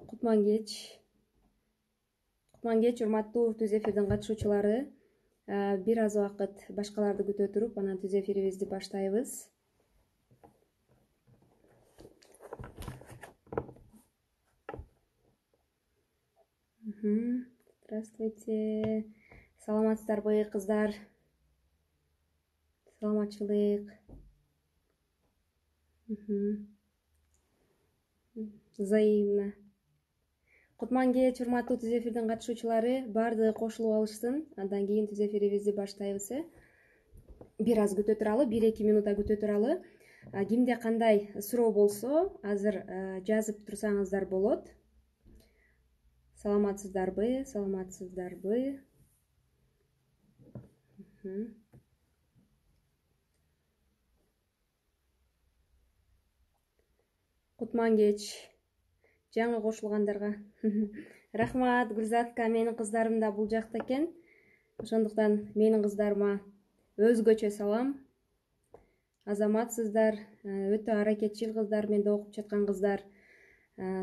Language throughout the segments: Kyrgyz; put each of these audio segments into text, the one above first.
Кутман кеч. Урматтуу түз эфирдин катышуучулары. Бир аз убакыт башкаларды күтө туруп, анан түз эфирибизди баштайбыз. Здравствуйте. Саламатсыздарбы, кыздар? Саламатчылык. Взаимно. Кутман кеч, урматтуу түз эфирдин катышуучулары. Баардыгы кошулуп алышсын. Андан кийин түз эфирибизди баштайбыз. Бир аз күтө туралы, 1-2 минута күтө туралы. Кимде кандай суроо болсо, азыр жазып турсаңыздар болот. Саламатсыздарбы? Кутман кеч. Жаңы кошулгандарга рахмат. Гүлзатка, менин кыздарым да бул жакта экен. Ошондуктан менин кыздарыма өзгөчө салам. Азаматсыздар, өтө аракетчил кыздар, менде окуп жаткан кыздар.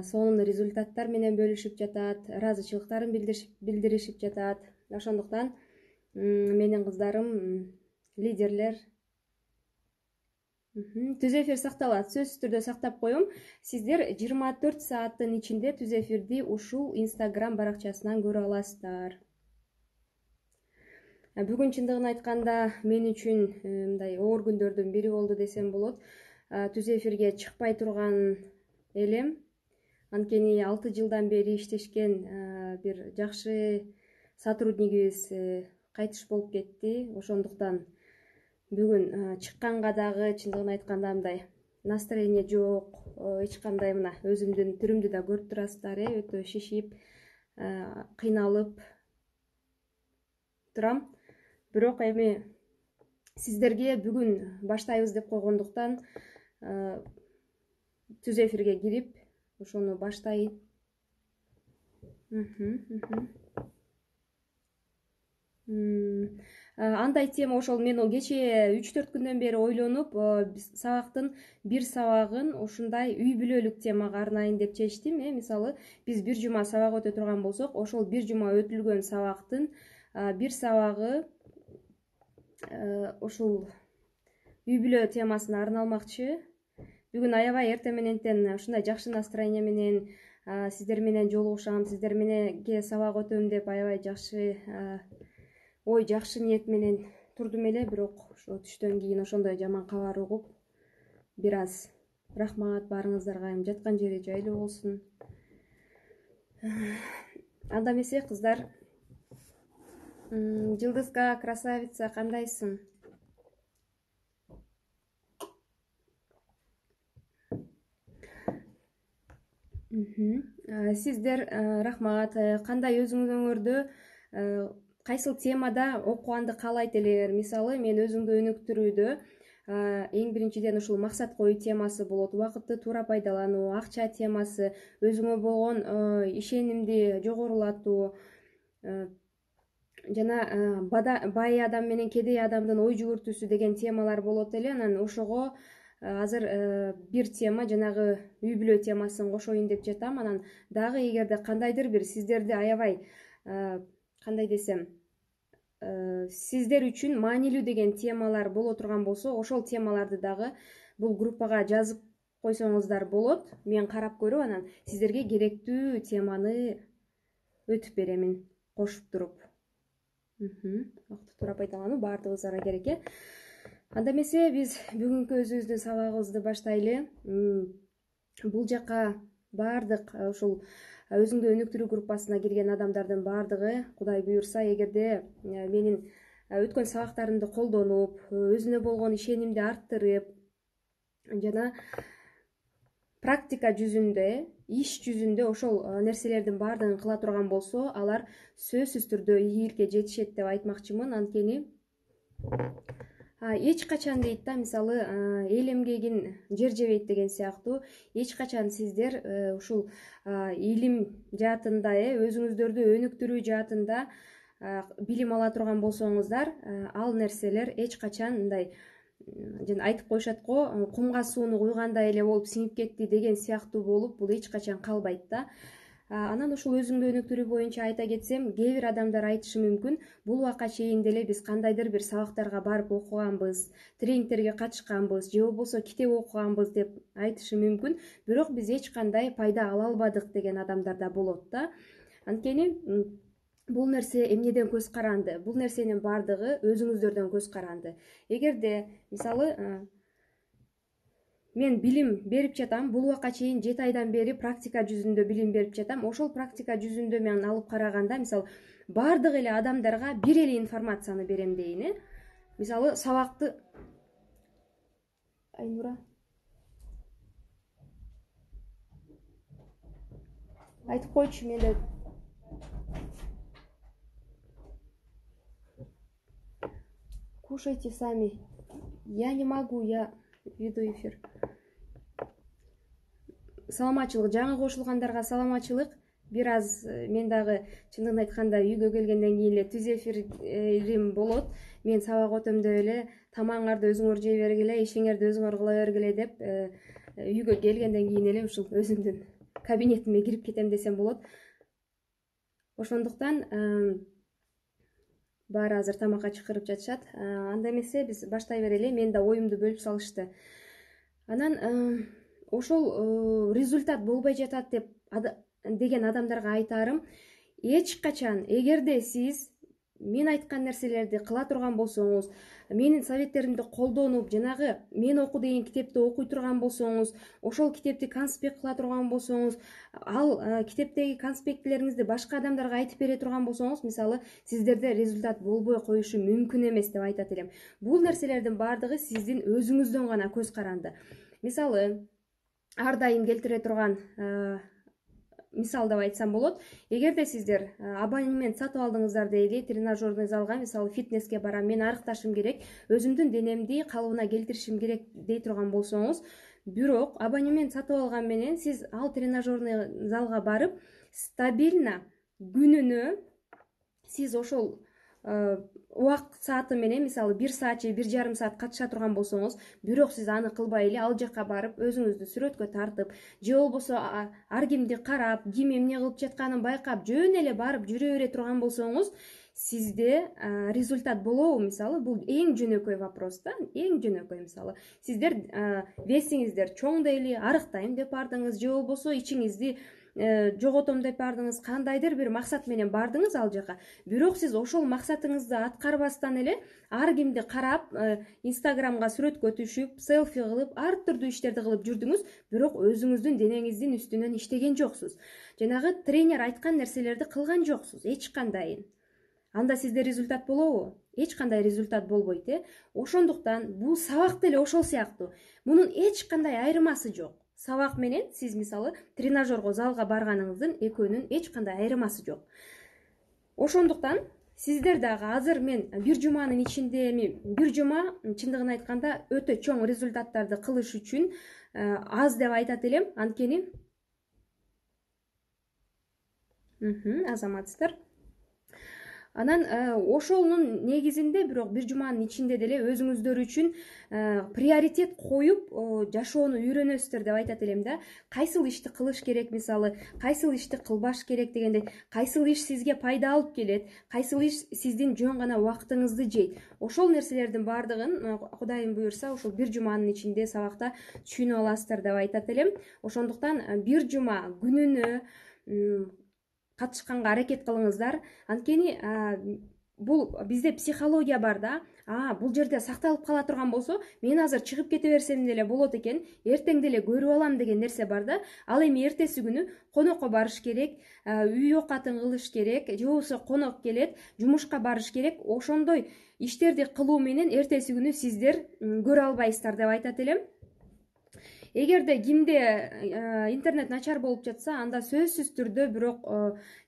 Сонун результаттар менен бөлүшүп жатат, ыраазычылыктарын билдиришип жатат. Ошондуктан менин кыздарым лидерлер. Түз эфир сакталат, сөзсүз түрдө сактап коем. Сиздер 24 сааттын ичинде түз эфирди ушул Instagram баракчасынан көрө аласыздар. Бүгүн чындыгын айтканда мен үчүн мындай оор күндөрдүн бири болду десем болот. Түз эфирге чыкпай турган элем. Анткени 6 жылдан бери иштешкен бир жакшы сотруднигибиз кайтыш болуп кетти. Ошондуктан бүгүн чыкканга дагы чындыгын айтканда мындай настроение жок. Эч кандай мына өзүмдүн түрүмдү да көрүп турасыздар, өтө шишип, кыйналып турам. Бирок эми сиздерге бүгүн баштайбыз деп койгондуктан түз эфирге кирип, ошону баштайын. Андай тема ошол мен кече 3-4 күндөн бери ойлонуп, сабактын бир сабагын ушундай үй бүлөлүк темага арнайын деп чечтим. Мисалы, биз бир жума сабак өтө турган болсок, ошол бир жума өтүлгөн сабактын бир сабагы ушул үй бүлө темасына арналмакчы. Бүгүн аябай эрте мененден ушундай жакшы настроение менен сиздер менен жолугушам, сиздер мененге сабак өтөм деп аябай жакшы жакшы ниет менен турдум эле. Бирок ошо түштөн кийин ошондой жаман кабар угуп, бир аз рахмат баарыңыздарга, жаткан жери жайлуу болсун. Анда эмесе, кыздар, Жылдызка, красавица, кандайсың? Сиздер рахмат. Кандай өзүңөрдө кайсыл темада окуганды каалайт элеңер? Мисалы, мен өзүңдү өнүктүрүүдө эң биринчиден ушул максат коюу темасы болот, убакытты туура пайдалануу, акча темасы, өзүңө болгон ишенимди жогорулатуу жана бай адам менен кедей адамдын ой жүгүртүүсү деген темалар болот эле. Анан ошого азыр бир тема, жанагы үй бүлө темасын кошоюн деп жатам. Анан дагы эгерде кандайдыр бир сиздерди аябай кандай десем, сиздер үчүн маанилүү деген темалар боло турган болсо, ошол темаларды дагы бул группага жазып койсоңуздар болот. Мен карап көрүп, анан сиздерге керектүү теманы өтүп беремин кошуп туруп. Вакытты туура пайдалануу баардыгыбызга керек. Анда эмесе, биз бүгүнкү өзүбүздүн сабагыбызды баштайлы. Бул жака баардык ушул өзүңдү өнүктүрүү группасына кирген адамдардын баардыгы, Кудай буюрса, эгерде менин өткөн сабактарымды колдонуп, өзүнө болгон ишенимди арттырып, жана практика жүзүндө, иш жүзүндө ошол нерселердин баардыгын кыла турган болсо, алар сөзсүз түрдө ийгиликке жетишет деп айтмакчымын. Анткени эч качан дейт да, мисалы, эл эмгегин жер жебейт деген сыяктуу, эч качан сиздер ушул илим жаатында, өзүңүздөрдү өнүктүрүү жаатында билим ала турган болсоңуздар, ал нерселер эч качан мындай жана айтып коюшат го, кумга сууну куйгандай эле болуп сиңип кетти деген сыяктуу болуп, бул эч качан калбайт да. Анан ушул өзүңдү өнүктүрүү боюнча айта кетсем, кээ бир адамдар айтышы мүмкүн, бул убакка чейин деле биз кандайдыр бир сабактарга барып окуганбыз, тренингтерге катышканбыз, же болбосо китеп окуганбыз деп айтышы мүмкүн, бирок биз эч кандай пайда ала албадык деген адамдар да болот да. Анткени бул нерсе эмнеден көз каранды? Бул нерсенин баардыгы өзүңүздөрдөн көз каранды. Эгерде мисалы мен билим берип жатам, бул убакка чейин 7 айдан бери практика жүзүндө билим берип жатам. Ошол практика жүзүндө мен алып караганда, мисалы, бардык эле адамдарга бир эле информацияны берем дейин, Мисалы, сабакты Айнура айтып койчу, менде кушайте сами. Я не могу, я веду эфир. Саламатчылык, жаңы кошулгандарга саламатчылык. Бир аз мен дагы чындыгын айтканда үйгө келгенден кийин эле түз эфирим болот. Мен сабак өтөмдө эле тамагыңарды өзүңөр жей бергиле, ишиңерди өзүңөр кыла бергиле деп үйгө келгенден кийин эле ушул өзүмдүн кабинетиме кирип кетем десем болот. Ошондуктан баары азыр тамакка чакырып жатышат. Анда эмесе биз баштай берели. Мен да оюмду бөлүп салышты. Анан ошол результат болбой жатат деген адамдарга айтарым, эч качан, эгерде сиз мен айткан нерселерди кыла турган болсоңуз, менин советтеримди колдонуп, жанагы мен оку деген китепти окуй турган болсоңуз, ошол китепти конспект кыла турган болсоңуз, ал китептеги конспектлериңизди башка адамдарга айтып бере турган болсоңуз, мисалы, сиздерде результат болбой коюшу мүмкүн эмес деп айтат элем. Бул нерселердин баардыгы сиздин өзүңүздөн гана көз каранды. Мисалы, ар дайым келтире турган мисал деп айтсам болот. Эгерде сиздер абонемент сатып алдыңыздар дейли, тренажерный залга, мисалы, фитнеске барам, мен арыкташым керек, өзүмдүн денемди калыбына келтиришим керек дей турган болсоңуз, бирок абонемент сатып алган менен сиз ал тренажерный залга барып, стабильно күнүнө сиз ошол убакыт сааты менен, мисалы, 1 саат же 1,5 саат катыша турган болсоңуз, бирок сиз аны кылбай эле ал жакка барып, өзүңүздү сүрөткө тартып, же болбосо ар кимди карап, ким эмне кылып жатканын байкап, жөн эле барып жүрө бере турган болсоңуз, сизде результат болобу? Мисалы, бул эң жөнөкөй вопрос да, эң жөнөкөй. Мисалы, сиздер весиңиздер чоң дейли, арыктайм деп бардыңыз, же болбосо ичиңизди жоготом деп бардыңыз, кандайдыр бир максат менен бардыңыз ал жака. Бирок сиз ошол максатыңызды аткарбастан эле ар кимди карап, Инстаграмга сүрөткө түшүп, селфи кылып, ар түрдүү иштерди кылып жүрдүңүз, бирок өзүңүздүн денеңиздин үстүнөн иштеген жоксуз. Жанагы тренер айткан нерселерди кылган жоксуз эч кандайын. Анда сизде результат болобу? Эч кандай результат болбойт, Ошондуктан бул сабак деле ошол сыяктуу. Мунун эч кандай айырмасы жок. Сабак менен сиз, мисалы, тренажерго залга барганыңыздын экөөнүн эч кандай айырмасы жок. Ошондуктан сиздер дагы азыр мен бир жуманын ичинде, бир жума чындыгын айтканда өтө чоң результаттарды кылыш үчүн аз деп айтат элем. Анткени азаматсыздар. Анан ошонун негизинде, бирок бир жуманын ичинде деле өзүңүздөр үчүн приоритет коюп жашоону үйрөнөсүздөр деп айтат элем да. Кайсыл ишти кылыш керек, мисалы, кайсыл ишти кылбаш керек дегенде, кайсыл иш сизге пайда алып келет, кайсыл иш сиздин жөн гана убактыңызды жейт. Ошол нерселердин баардыгын Кудайым буюрса ошол бир жуманын ичинде сабакта түшүнүп аласыздар деп айтат элем. Ошондуктан бир жума күнүнө катышканга аракет кылыңыздар. Анткени бул бизде психология бар да. Бул жерде сакталып кала турган болсо, мен азыр чыгып кете берсем деле болот экен, эртең деле көрүп алам деген нерсе бар да. Ал эми эртеси күнү конокко барыш керек, үй оокатын кылыш керек, же болбосо конок келет, жумушка барыш керек. Ошондой иштерди кылуу менен эртеси күнү сиздер көрө албайсыздар деп айтат элем. Эгерде кимде интернет начар болуп жатса, анда сөзсүз түрдө бирок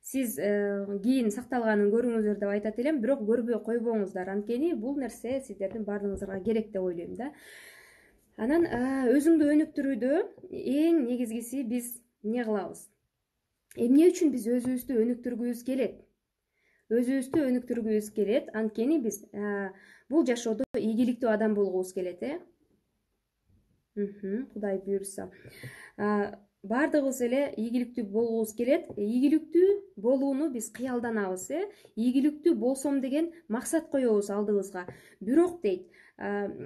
сиз кийин сакталганын көрүңүздөр деп айтат элем, бирок көрбөй койбоңуздар. Анткени бул нерсе сиздердин баардыгыңыздарга керек деп ойлойм да. Анан өзүңдү өнүктүрүүдө эң негизгиси биз эмне кылабыз? Эмне үчүн биз өзүбүздү өнүктүргүбүз келет? Өзүбүздү өнүктүргүбүз келет, анткени биз бул жашоодо ийгиликтүү адам болгубуз келет, Кудай буюрса. баардыгыбыз эле ийгиликтүү болгубуз келет. Ийгиликтүү болууну биз кыялданабыз, ийгиликтүү болсом деген максат коебуз алдыбызга. Бирок дейт,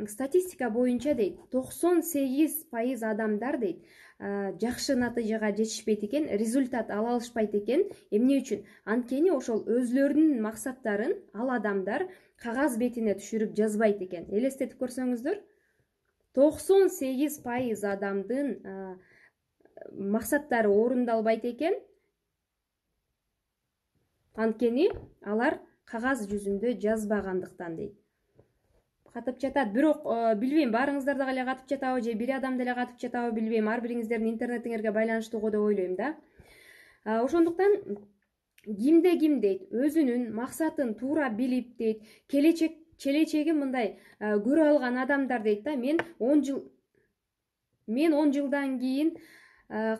статистика боюнча дейт, 98% адамдар дейт, жакшы натыйжага жетишпейт экен, результат ала алышпайт экен. Эмне үчүн? Анткени ошол өзүлөрүнүн максаттарын ал адамдар кагаз бетине түшүрүп жазбайт экен. Элестетип көрсөңүздөр, 98% адамдын максаттары орундалбайт экен, анткени алар кагаз жүзүндө жазбагандыктан дейт. Катып жатат. Бирок билбейм, баарыңыздар дагы эле катып жатабы же бир адам деле катып жатабы билбейм. Ар бириңиздердин интернетиңерге байланыштуу го деп ойлойм да. Ошондуктан кимде ким дейт, өзүнүн максатын туура билип дейт, келечегин мындай көрө алган адамдар дейт да, мен 10 жылдан кийин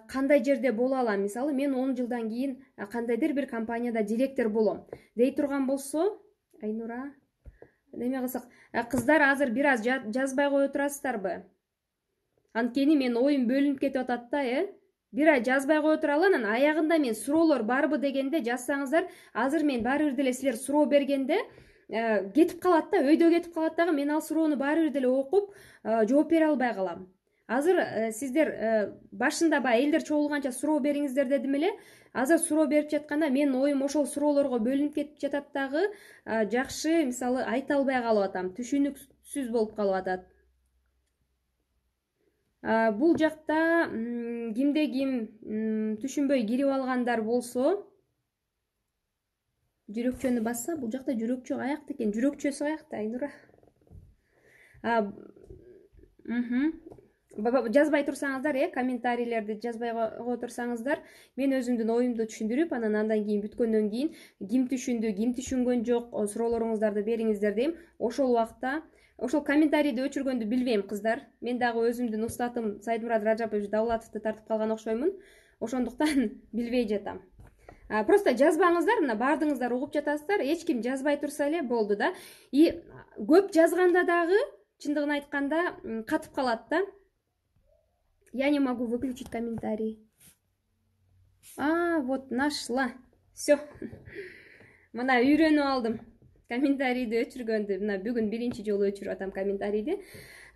кандай жерде боло алам, мисалы мен 10 жылдан кийин кандайдыр бир компанияда директор болом дей турган болсо, Айнура, неме кылсак, кыздар азыр бир аз жазбай кое турасыздарбы? Анткени мен оюм бөлүнүп кетип атат да, бир ай жазбай кое туралы, анан аягында мен суроолор барбы дегенде жазсаңыздар, азыр мен баары бир деле силер суроо бергенде кетип калат да, өйдө кетип калат дагы, мен ал суроону баары бир деле окуп жооп бере албай калам. Азыр сиздер башында баягы элдер чогулганча суроо бериңиздер дедим эле. Азыр суроо берип жатканда менин оюм ошол суроолорго бөлүнүп кетип жатат дагы, жакшы мисалы айта албай калып атам, түшүнүксүз болуп калып атат. Бул жакта кимде ким түшүнбөй кирип алгандар болсо, жүрөкчөнү басса, бул жакта жүрөкчө аякта экен. Жүрөкчөсү аякта, Айнура. Жазбай турсаңыздар, комментарийлерди жазбай кое турсаңыздар, мен өзүмдүн оюмду түшүндүрүп, андан кийин бүткөндөн кийин ким түшүндү, ким түшүнгөн жок, суроолоруңуздарды бериңиздер дейм. Ошол убакта ошол комментарийди өчүргөндү билбейм, кыздар. Мен дагы өзүмдүн устатым Сайдмурат Ражапович Давлатовду тартып калган окшоймун. Ошондуктан билбей жатам. Просто жазбаңыздар, мына баардыгыңыздар угуп жатасыздар, эч ким жазбай турса эле болду да. И көп жазганда дагы, чындыгын айтканда, катып калат да. Я не могу выключить комментарий. Вот нашла. Все. Мына үйрөнүп алдым. Комментарийди өчүргөндү. Мына бүгүн биринчи жолу өчүрүп атам комментарийди.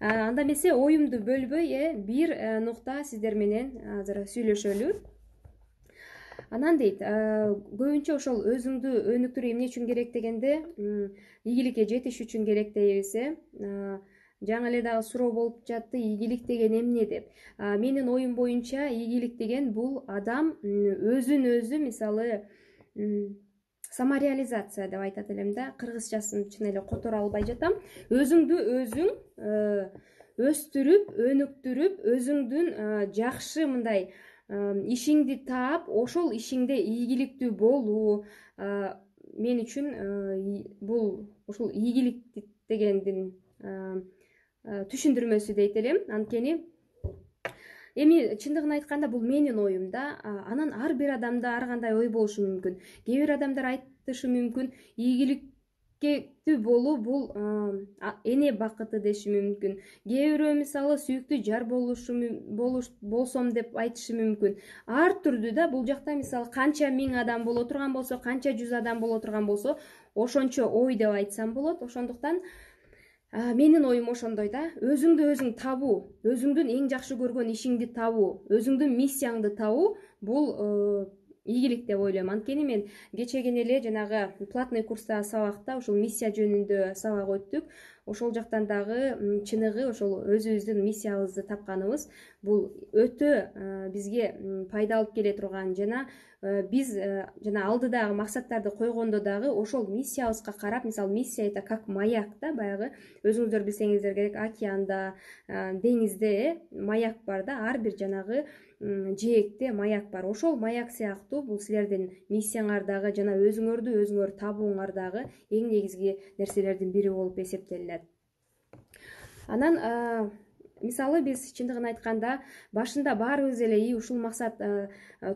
Анда эмесе оюмду бөлбөй, бир нукта сиздер менен азыр сүйлөшөлү. Анан дейт, көбүнчө ошол өзүңдү өнүктүрүү эмне үчүн керек дегенде, ийгиликке жетиш үчүн керек дейбиз. Жаңы эле дагы суроо болуп жатты, ийгилик деген эмне деп. Менин оюм боюнча ийгилик деген бул адам өзүн өзү, мисалы, самореализация деп айтат элем да, кыргызчасын чын эле которо албай жатам. Өзүңдү өзүң өстүрүп, өнүктүрүп, өзүңдүн жакшы мындай ишиңди таап, ошол ишиңде ийгиликтүү болуу мен үчүн бул ушул ийгилик дегендин түшүндүрмөсү дейт элем. Анткени эми чындыгын айтканда бул менин оюм да. Анан ар бир адамда ар кандай ой болушу мүмкүн. Кээ бир адамдар айтышы мүмкүн, ийгиликтүү болуу бул эне бакыты деши мүмкүн. Кээ бирөө мисалы сүйүктүү жар болсом деп айтышы мүмкүн. Ар түрдүү да. Бул жакта мисалы канча 1000 адам боло турган болсо, канча 100 адам боло турган болсо, ошончо ой деп айтсам болот. Ошондуктан менин оюм ошондой да. Өзүңдү өзүң табуу, өзүңдүн эң жакшы көргөн ишиңди табуу, өзүңдүн миссияңды табуу бул ийгилик деп ойлойм. Анткени мен кечегени эле жанагы платный курста сабакта ушул миссия жөнүндө сабак өттүк. Ошол жактан дагы чыныгы ошол өзүбүздүн миссиябызды тапканыбыз бул өтө бизге пайда алып келе турган, жана биз жана алдыдагы максаттарды койгондо дагы ошол миссиябызга карап, мисалы миссия это как маяк да, баягы өзүңүздөр билсеңиздер керек, океанда, деңизде маяк бар да, ар бир жанагы жээкте маяк бар. Ошол маяк сыяктуу бул силердин миссияңар дагы жана өзүңөр табууңар дагы эң негизги нерселердин бири болуп эсептелет. Анан мисалы биз чындыгын айтканда башында баарыбыз эле ушул максат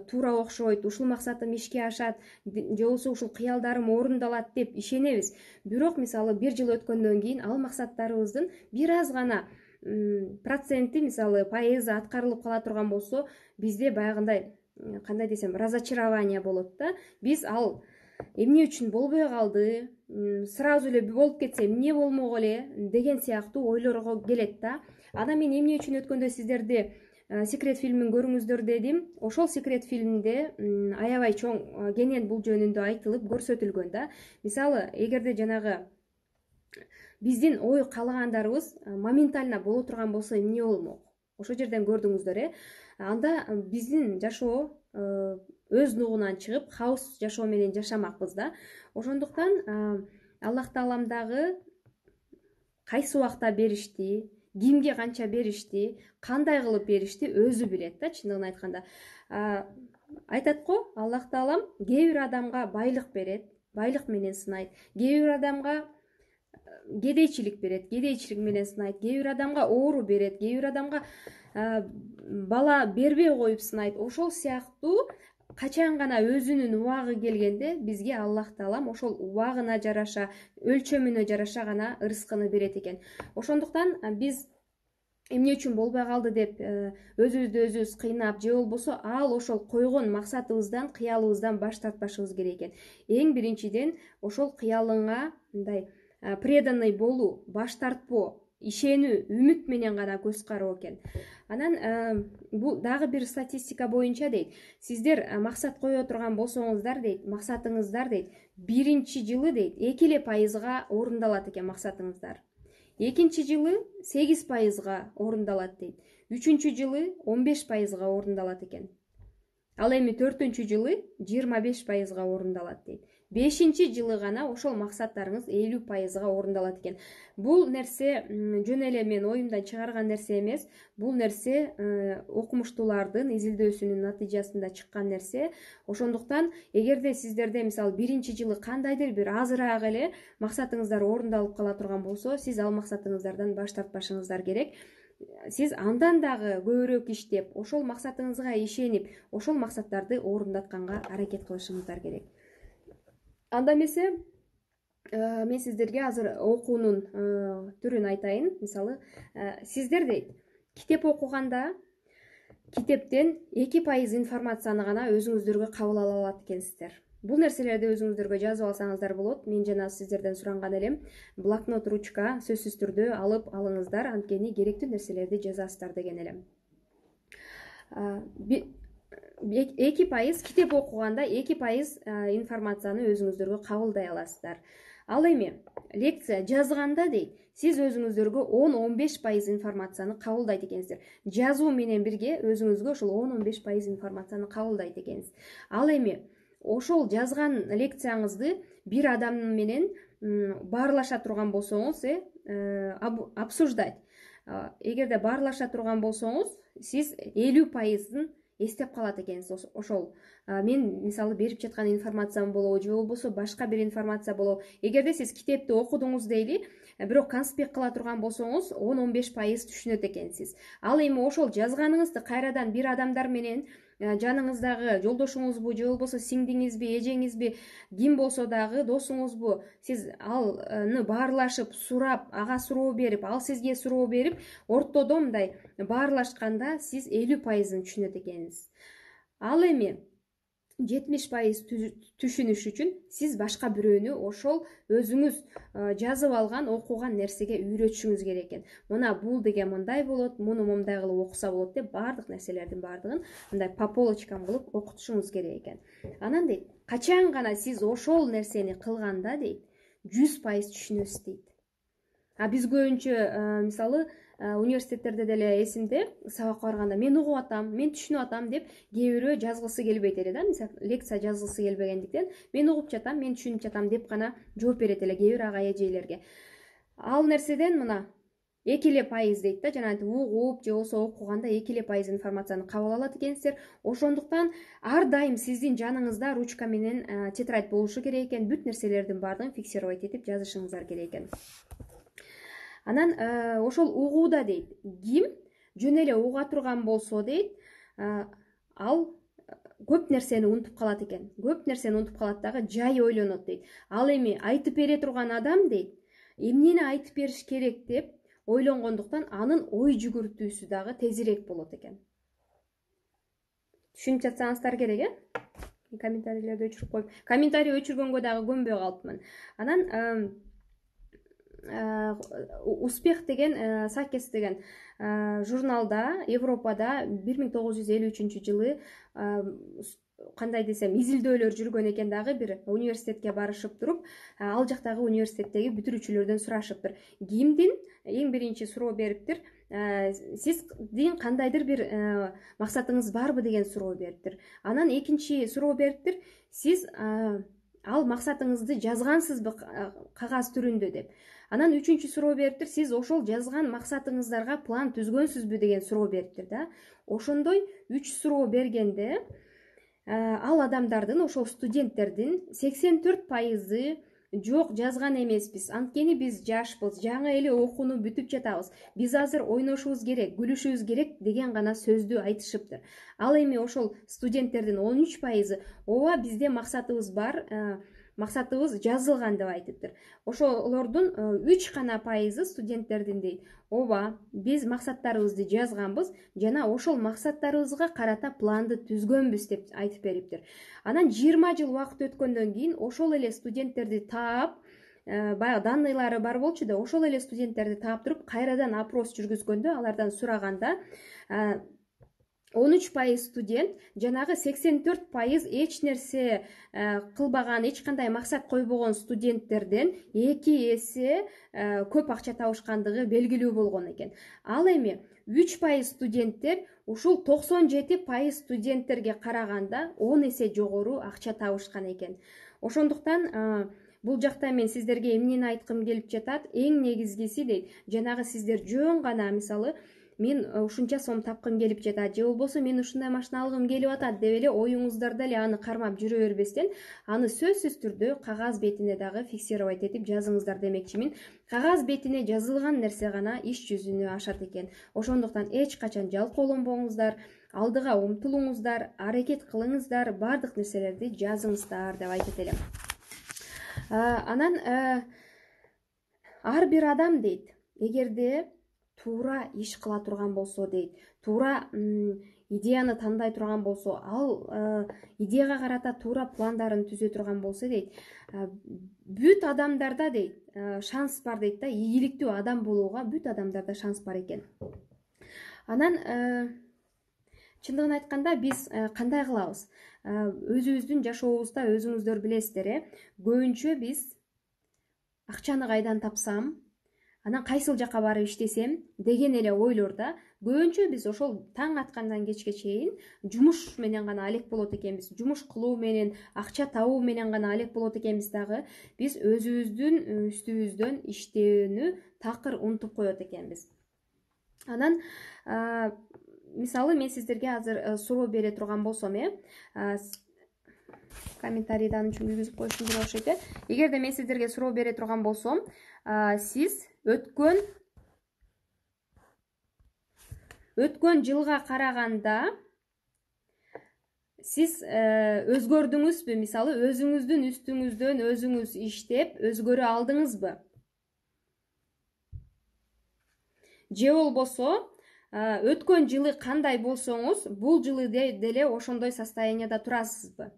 туура окшойт, ушул максатым ишке ашат, же болбосо ушул кыялдарым орундалат деп ишенебиз. Бирок мисалы 1 жыл өткөндөн кийин ал максаттарыбыздын бир аз гана проценти мисалы пайызы аткарылып кала турган болсо, бизде баягындай кандай десем разочарование болот да. Биз ал эмне үчүн болбой калды, сразу эле болуп кетсе эмне болмок эле деген сыяктуу ойлорго келет да. Анан мен эмне үчүн өткөндө сиздерди секрет фильмин көрүңүздөр дедим. Ошол секрет фильмде аябай чоң кенен бул жөнүндө айтылып көрсөтүлгөн да. Мисалы, эгерде жанагы биздин ой каалагандарыбыз моментально боло турган болсо эмне болмок? Ошол жерден көрдүңүздөр, анда биздин жашоо өз нугунан чыгып, хаос жашоо менен жашамакпыз да. Ошондуктан Аллах Таалам дагы кайсы убакта беришти, кимге канча беришти, кандай кылып беришти өзү билет да. Чындыгын айтканда айтат го, Аллах Таалам кээ бир адамга байлык берет, байлык менен сынайт, кээ бир адамга кедейчилик берет, кедейчилик менен сынайт, кээ бир адамга оору берет, кээ бир адамга бала бербей коюп сынайт. Ошол сыяктуу качан гана өзүнүн убагы келгенде бизге Аллах Таалам ошол убагына жараша, өлчөмүнө жараша гана ырыскыны берет экен. Ошондуктан биз эмне үчүн болбой калды деп өзүбүздү өзүбүз кыйнап, же болбосо ал ошол койгон максатыбыздан, кыялыбыздан баш тартпашыбыз керек экен. Эң биринчиден ошол кыялыңа мындай преданный болуу, баш тартпоо, ишенүү, үмүт менен гана көз кароо экен. Анан бул дагы бир статистика боюнча дейт, сиздер максат кое турган болсоңуздар дейт, максатыңыздар дейт, биринчи жылы дейт 2% орундалат экен максатыңыздар. Экинчи жылы 8% орундалат дейт. Үчүнчү жылы 15% орундалат экен. Ал эми 4-чү жылы 25% орундалат дейт. 5-чи жылы гана ошол максаттарыңыз 50% орундалат экен. Бул нерсе жөн эле мен оюмдан чыгарган нерсе эмес. Бул нерсе окумуштуулардын изилдөөсүнүн натыйжасында чыккан нерсе. Ошондуктан эгерде сиздерде мисалы биринчи жылы кандайдыр бир азыраак эле максатыңыздар орундалып кала турган болсо, сиз ал максатыңыздардан баш тартпашыңыздар керек. Сиз андан дагы көбүрөөк иштеп, ошол максатыңызга ишенип, ошол максаттарды орундатканга аракет кылышыңыздар керек. Анда эмесе мен сиздерге азыр окуунун түрүн айтайын. Мисалы, сиздер дейт, китеп окуганда китептен 2% информацияны гана өзүңүздөргө кабыл ала алат экенсиздер. Бул нерселерди өзүңүздөргө жазып алсаңыздар болот. Мен жана сиздерден суранган элем. Блокнот, ручка сөзсүз түрдө алып алыңыздар, анткени керектүү нерселерди жазасыздар деген элем. 2% китеп окуганда 2% информацияны өзүңүздөргө кабылдай аласыздар. Ал эми лекция жазганда дейт, сиз өзүңүздөргө 10-15% информацияны кабылдайт экенсиздер. Жазуу менен бирге өзүңүзгө ошол 10-15% информацияны кабылдайт экенсиз. Ал эми ошол жазган лекцияңызды бир адам менен баарлаша турган болсоңуз, обсуждать. Эгерде баарлаша турган болсоңуз, сиз 50%-ын эстеп калат экенсиз. Ошол мен мисалы берип жаткан информациям болобу, же болбосо башка бир информация болобу. Эгерде сиз китепти окудуңуз дейли, бирок конспект кыла турган болсоңуз, 10-15% түшүнөт экенсиз. Ал эми ошол жазганыңызды кайрадан бир адамдар менен, жаныңыздагы жолдошуңузбу, же болбосо сиңдиңизби, эжеңизби, ким болсо дагы досуңузбу, сиз алны баарлашып, сурап, ага суроо берип, ал сизге суроо берип, ортодо мындай баарлашканда сиз 50%-ын түшүнөт экенсиз. Ал эми 70% түшүнүш үчүн сиз башка бирөөнү ошол өзүңүз жазып алган, окуган нерсеге үйрөтүшүңүз керек экен. Мына бул деген мындай болот, муну момундай кылып окуса болот деп баардык нерселердин баардыгын мындай по полочкам кылып окутушуңуз керек экен. Анан дейт, качан гана сиз ошол нерсени кылганда дейт, 100% түшүнөсүз дейт. Биз көбүнчө мисалы университеттерде деле эсимде, сабакка барганда мен угуп атам, мен түшүнүп атам деп кээ бирөө жазгысы келбейт эле да. Мисалы лекция жазгысы келбегендиктен мен угуп жатам, мен түшүнүп жатам деп гана жооп берет эле кээ бир ага эжелерге. Ал нерседен мына 2% дейт да, жана угуп же болбосо окуганда 2% информацияны кабыл алат экенсиздер. Ошондуктан ар дайым сиздин жаныңызда ручка менен тетрадь болушу керек экен. Бүт нерселердин баардыгын фиксировать этип жазышыңыздар керек экен. Анан ошол угууда дейт, ким жөн эле уга турган болсо дейт, ал көп нерсени унутуп калат экен. Көп нерсени унутуп калат дагы, жай ойлонот дейт. Ал эми айтып бере турган адам дейт, эмнени айтып бериш керек деп ойлонгондуктан анын ой жүгүртүүсү дагы тезирээк болот экен. Түшүнүп жатсаңыздар керек, комментарийлерди өчүрүп коюп, комментарий өчүргөнгө дагы көнбөй калыптмын. Анан Успех деген, Сакес деген журналда Европада 1953 жылы кандай десем изилдөөлөр жүргөн экен, дагы бир университетке барышып туруп, ал жактагы университеттеги бүтүрүүчүлөрдөн сурашыптыр. Кимдин эң биринчи суроо бериптир, сиздин кандайдыр бир максатыңыз барбы деген суроо бериптир. Анан экинчи суроо бериптир, сиз ал максатыңызды жазгансызбы кагаз түрүндө деп. Анан үчүнчү суроо бериптир, сиз ошол жазган максатыңыздарга план түзгөнсүзбү деген суроо бериптир да. Ошондой 3 суроо бергенде ал адамдардын, ошол студенттердин 84% жок, жазган эмеспиз, анткени биз жашпыз, жаңы эле окууну бүтүп жатабыз, биз азыр ойношубуз керек, күлүшүбүз керек деген гана сөздү айтышыптыр. Ал эми ошол студенттердин 13% ооба бизде максатыбыз бар, максатыбыз жазылган деп айтыптыр. Ошолордун 3 гана пайызы студенттердин дейт, ооба биз максаттарыбызды жазганбыз жана ошол максаттарыбызга карата планды түзгөнбүз деп айтып бериптир. Анан 20 жыл убакыт өткөндөн кийин ошол эле студенттерди таап, баягы данныйлары бар болчу да, ошол эле студенттерди таап туруп кайрадан опрос жүргүзгөндө, алардан сураганда 13% студент жанагы 84% эч нерсе кылбаган, эч кандай максат койбогон студенттерден 2 эсе көп акча табышкандыгы белгилүү болгон экен. Ал эми 3% студенттер ушул 97% студенттерге караганда 10 эсе жогору акча табышкан экен. Ошондуктан бул жакта мен сиздерге эмнени айткым келип жатат? Эң негизгиси дейт, жанагы сиздер жөн гана мисалы мен ушунча сом тапкым келип жатат, же болбосо мен ушундай машина алгым келип атат деп эле оюңуздарда эле аны кармап жүрө бербестен, аны сөзсүз түрдө кагаз бетине дагы фиксировать этип жазыңыздар демекчимин. Кагаз бетине жазылган нерсе гана иш жүзүнө ашат экен. Ошондуктан эч качан жалкоолонбоңуздар, алдыга умтулуңуздар, аракет кылыңыздар, бардык нерселерди жазыңыздар деп айтат элем. Анан ар бир адам дейт, эгерде туура иш кыла турган болсо дейт, туура идеяны тандай турган болсо, ал идеяга карата туура пландарын түзө турган болсо дейт, бүт адамдарда дейт шанс бар дейт да, ийгиликтүү адам болууга бүт адамдарда шанс бар экен. Анан чындыгын айтканда биз кандай кылабыз? Өзүбүздүн жашообузда өзүңүздөр билесиздер, көбүнчө биз акчаны кайдан тапсам, анан кайсыл жака барып иштесем деген эле ойлорда көбүнчө биз ошол таң аткандан кечке чейин жумуш менен гана алек болот экенбиз, жумуш кылуу менен, акча табуу менен гана алек болот экенбиз дагы, биз өзүбүздүн үстүбүздөн иштөөнү такыр унутуп коет экенбиз. Анан мисалы мен сиздерге азыр суроо бере турган болсом, комментарийди анын үчүн киргизип коюшум керек окшойт. Эгерде мен сиздерге суроо бере турган болсом, сиз өткөн жылга караганда сиз өзгөрдүңүзбү? Мисалы, өзүңүздүн үстүңүздөн өзүңүз иштеп өзгөрө алдыңызбы? Же болбосо өткөн жылы кандай болсоңуз, бул жылы деле ошондой состоянияда турасызбы?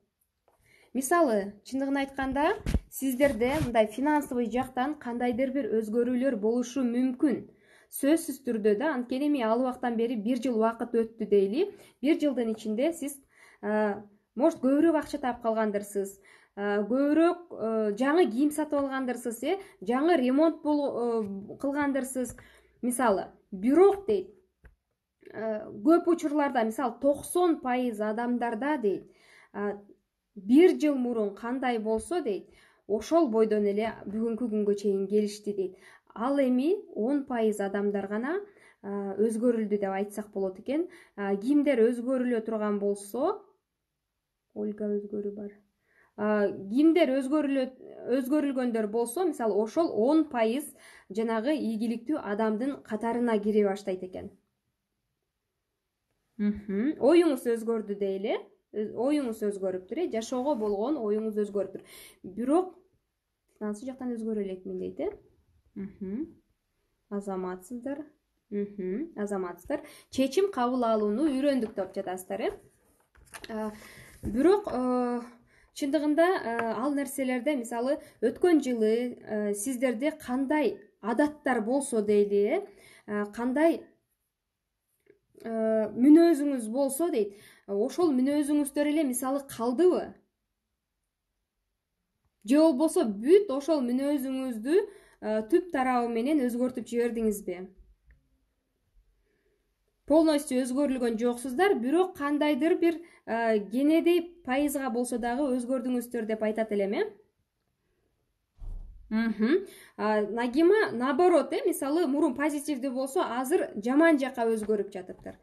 Мисалы, чындыгын айтканда, сиздерде мындай финансовый жактан кандайдыр бир өзгөрүүлөр болушу мүмкүн. Сөзсүз түрдө да, анткени эми ал убактан бери 1 жыл убакыт өттү дейли. 1 жылдын ичинде сиз может көбүрөөк акча таап калгандырсыз, көбүрөөк жаңы кийим сатып алгандырсыз, жаңы ремонт кылгандырсыз. Мисалы, бирок дейт, көп учурларда, мисалы 90% адамдарда дейт, 1 жыл мурун кандай болсо дейт, ошол бойдон эле бүгүнкү күнгө чейин келишти дейт. Ал эми 10% адамдар гана өзгөрүлдү деп айтсак болот экен. Кимдер өзгөрүлө турган болсо, Ольга өзгөрүү бар. Кимдер өзгөрүлгөндөр болсо, мисалы, ошол 10% жанагы ийгиликтүү адамдын катарына кире баштайт экен. Оюңуз өзгөрдү дейли. Оюңуз өзгөрүптүр, жашоого болгон оюңуз өзгөрүптүр. Бирок финансы жактан өзгөрө элекмин дейт, азаматсыздар. Азаматсыздар. Чечим кабыл алууну үйрөндүк деп жатасыздар, Бирок чындыгында ал нерселерде мисалы өткөн жылы сиздерде кандай адаттар болсо дейли, кандай мүнөзүңүз болсо дейт, ошол мүнөзүңүздөр эле мисалы калдыбы? Же болбосо бүт ошол мүнөзүңүздү түп тарабы менен өзгөртүп жибердиңизби? Полностью өзгөрүлгөн жоксуздар, бирок кандайдыр бир кенедей пайызга болсо дагы өзгөрдүңүздөр деп айтат элем, Нагима наоборот, мисалы мурун позитивдүү болсо, азыр жаман жака өзгөрүп жатыптыр.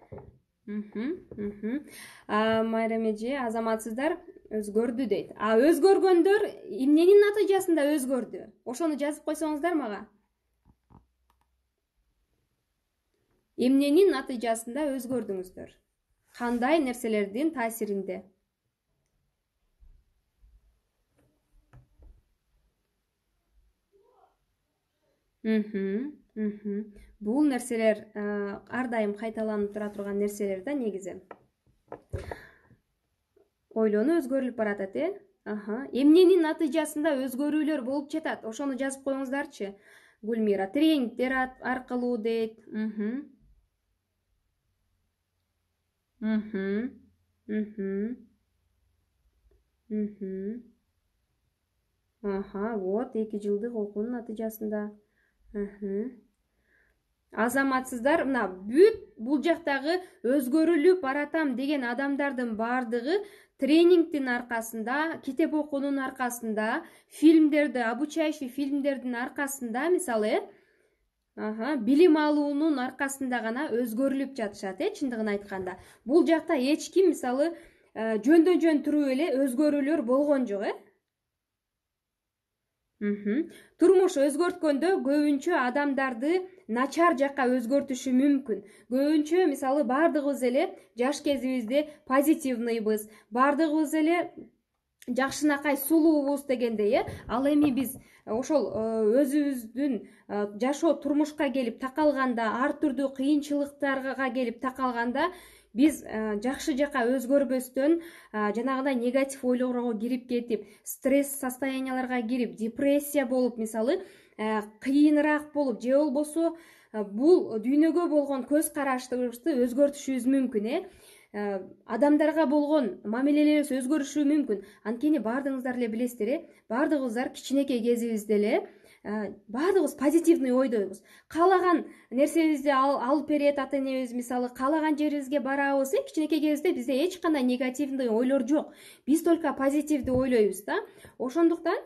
Майрам эже, азаматсыздар өзгөрдү дейт. Өзгөргөндөр эмненин натыйжасында өзгөрдү? Ошону жазып койсоңуздар мага. Эмненин натыйжасында өзгөрдүңүздөр? Кандай нерселердин таасиринде? Бул нерселер ар дайым кайталанып тура турган нерселер да негизи. Ойлонуу өзгөрүлүп баратат, Эмненин натыйжасында өзгөрүүлөр болуп жатат? Ошону жазып коюңуздарчы. Гүлмира, тренингдер аркылуу дейт. Вот 2 жылдык окуунун натыйжасында. Азаматсыздар, мына бүт бул жактагы өзгөрүлүп баратам деген адамдардын баардыгы тренингдин аркасында, китеп окуунун аркасында, фильмдерди, обучающий фильмдердин аркасында, мисалы, билим алуунун аркасында гана өзгөрүлүп жатышат, чындыгын айтканда. Бул жакта эч ким мисалы жөндөн жөн туруп эле өзгөрүүлөр болгон жок, Турмуш өзгөрткөндө көбүнчө адамдарды начар жакка өзгөртүшү мүмкүн. Көбүнчө мисалы бардыгыбыз эле жаш кезибизде позитивныйбыз, бардыгыбыз эле жакшынакай сулуубуз дегендей, Ал эми биз ошол өзүбүздүн жашоо турмушка келип такалганда, ар түрдүү кыйынчылыктарга келип такалганда, биз жакшы жака өзгөрбөстөн жанагындай негатив ойлорго кирип кетип, стресс состоянияларга кирип, депрессия болуп, мисалы кыйыныраак болуп, же болбосо бул дүйнөгө болгон көз карашыбызды өзгөртүшүбүз мүмкүн, адамдарга болгон мамилелерибиз өзгөрүшү мүмкүн. Анткени бардыгыңыздар эле билесиздер, бардыгыбыздар кичинекей кезибизде эле бардыгыбыз позитивный ойдойбуз. Каалаган нерсебизди алып берет ата энебиз, мисалы каалаган жерибизге барабыз, кичинекей кезибизде бизде эч кандай негативный ойлор жок. Биз только позитивдүү ойлойбуз да. Ошондуктан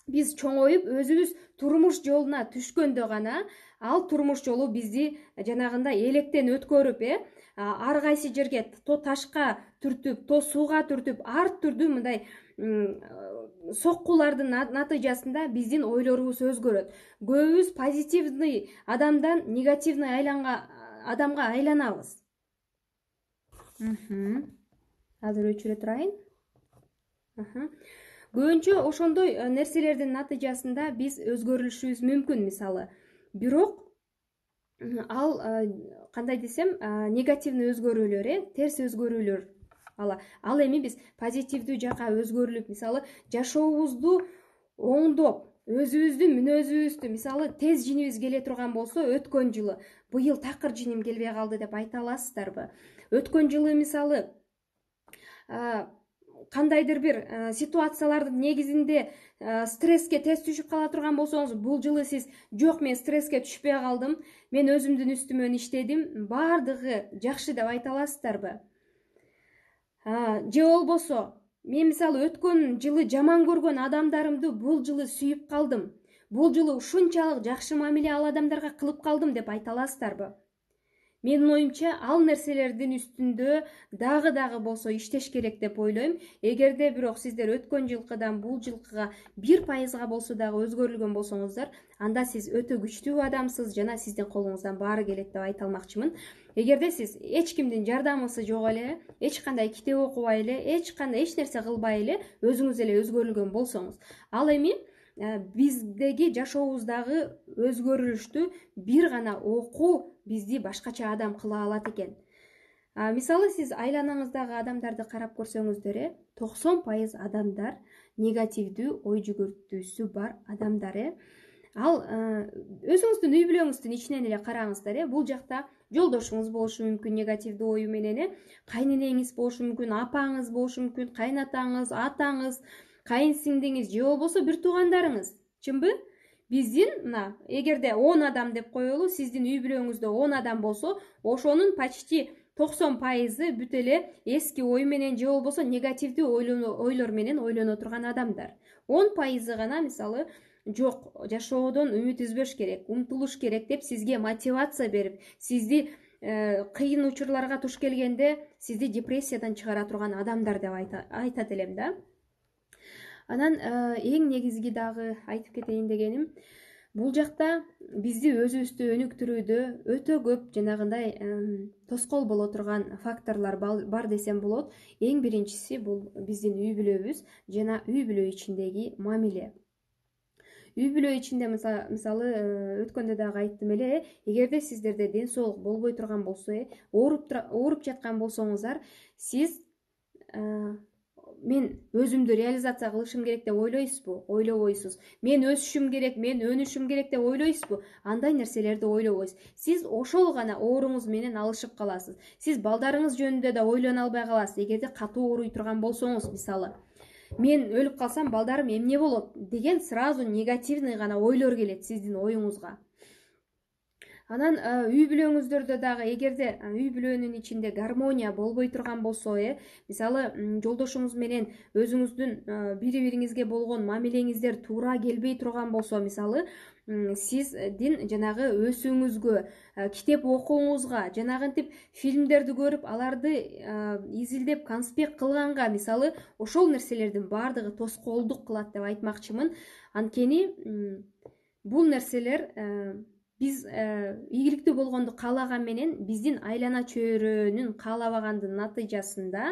биз чоңоюп өзүбүз турмуш жолуна түшкөндө гана ал турмуш жолу бизди жанагындай электен өткөрүп, ар кайсы жерге то ташка түртүп, то сууга түртүп, ар түрдүү мындай соккулардын натыйжасында биздин ойлорубуз өзгөрөт. Көбүбүз позитивный адамдан негативный адамга айланабыз. Азыр өчүрө турайын. Көбүнчө ошондой нерселердин натыйжасында биз өзгөрүлүшүбүз мүмкүн, мисалы. Бирок ал кандай десем, негативный өзгөрүүлөр, терс өзгөрүүлөр. Ал эми биз позитивдүү жака өзгөрүлүп, мисалы, жашообузду оңдоп, өзүбүздүн мүнөзүбүздү, мисалы, тез жинибиз келе турган болсо, өткөн жылы, быйыл такыр жиним келбей калды деп айта аласыздарбы? Өткөн жылы, мисалы, кандайдыр бир ситуациялардын негизинде стресске тез түшүп кала турган болсоңуз, бул жылы сиз жок, мен стресске түшпөй калдым, мен өзүмдүн үстүмөн иштедим, бардыгы жакшы деп айта аласыздарбы? Же болбосо, мен мисалы өткөн жылы жаман көргөн адамдарымды бул жылы сүйүп калдым, бул жылы ушунчалык жакшы мамиле ал адамдарга кылып калдым деп айта аласыздарбы? Менин оюмча, ал нерселердин үстүндө дагы болсо иштеш керек деп ойлойм. Эгерде бирок сиздер өткөн жылкыдан бул жылкыга 1% болсо дагы өзгөрүлгөн болсоңуздар, анда сиз өтө күчтүү адамсыз жана сиздин колуңуздан баары келет деп айта алмакчымын. Эгерде сиз эч кимдин жардамысы жок эле, эч кандай китеп окубай эле, эч нерсе кылбай эле өзүңүз эле өзгөрүлгөн болсоңуз, ал эми биздеги жашообуздагы өзгөрүлүштү бир гана окуу бизди башкача адам кыла алат экен. Мисалы сиз айланаңыздагы адамдарды карап көрсөңүздөр, 90% адамдар негативдүү ой жүгүртүүсү бар адамдар. Ал өзүңүздүн үй бүлөңүздүн ичинен эле караңыздар. Бул жакта жолдошуңуз болушу мүмкүн негативдүү ою менен, кайненеңиз болушу мүмкүн, апаңыз болушу мүмкүн, кайнатаңыз, атаңыз, кайын сиңдиңиз же болбосо бир туугандарыңыз. Чынбы? Биздин мына эгерде 10 адам деп коелу, сиздин үй бүлөңүздө 10 адам болсо, ошонун почти 90% бүт эле эски ой менен же болбосо негативдүү ойлор менен ойлоно турган адамдар. 10% гана мисалы жок, жашоодон үмүт үзбөш керек, умтулуш керек деп сизге мотивация берип, сизди кыйын учурларга туш келгенде сизди депрессиядан чыгара турган адамдар деп айтат элем да. Анан эң негизги дагы айтып кетейин дегеним, бул жакта бизди өзүбүздү өнүктүрүүдө өтө көп жанагындай тоскоол боло турган факторлор бар десем болот. Эң биринчиси бул биздин үй бүлөбүз жана үй бүлө ичиндеги мамиле. Үй бүлө ичинде мисалы өткөндө дагы айттым эле, эгерде сиздерде ден соолук болбой турган болсо, ооруп жаткан болсоңуздар, сиз мен өзүмдү реализация кылышым керек деп ойлойсузбу? Ойлобойсуз. Мен өсүшүм керек, мен өнүшүм керек деп ойлойсузбу? Андай нерселерди ойлобойсуз. Сиз ошол гана ооруңуз менен алышып каласыз. Сиз балдарыңыз жөнүндө да ойлоно албай каласыз. Эгерде катуу ооруй турган болсоңуз, мисалы, мен өлүп калсам балдарым эмне болот деген сразу негативный гана ойлор келет сиздин оюңузга. Анан үй бүлөңүздөрдө дагы эгерде үй бүлөнүн ичинде гармония болбой турган болсо, мисалы жолдошуңуз менен өзүңүздүн бири-бириңизге болгон мамилеңиздер туура келбей турган болсо, мисалы сиздин жанагы өсүүңүзгө, китеп окууңузга, жанагынтип фильмдерди көрүп, аларды изилдеп, конспект кылганга, мисалы ошол нерселердин баардыгы тоскоолдук кылат деп айтмакчымын. Анткени бул нерселер биз ийгиликтүү болгонду каалаган менен биздин айлана чөйрөнүн каалабагандын натыйжасында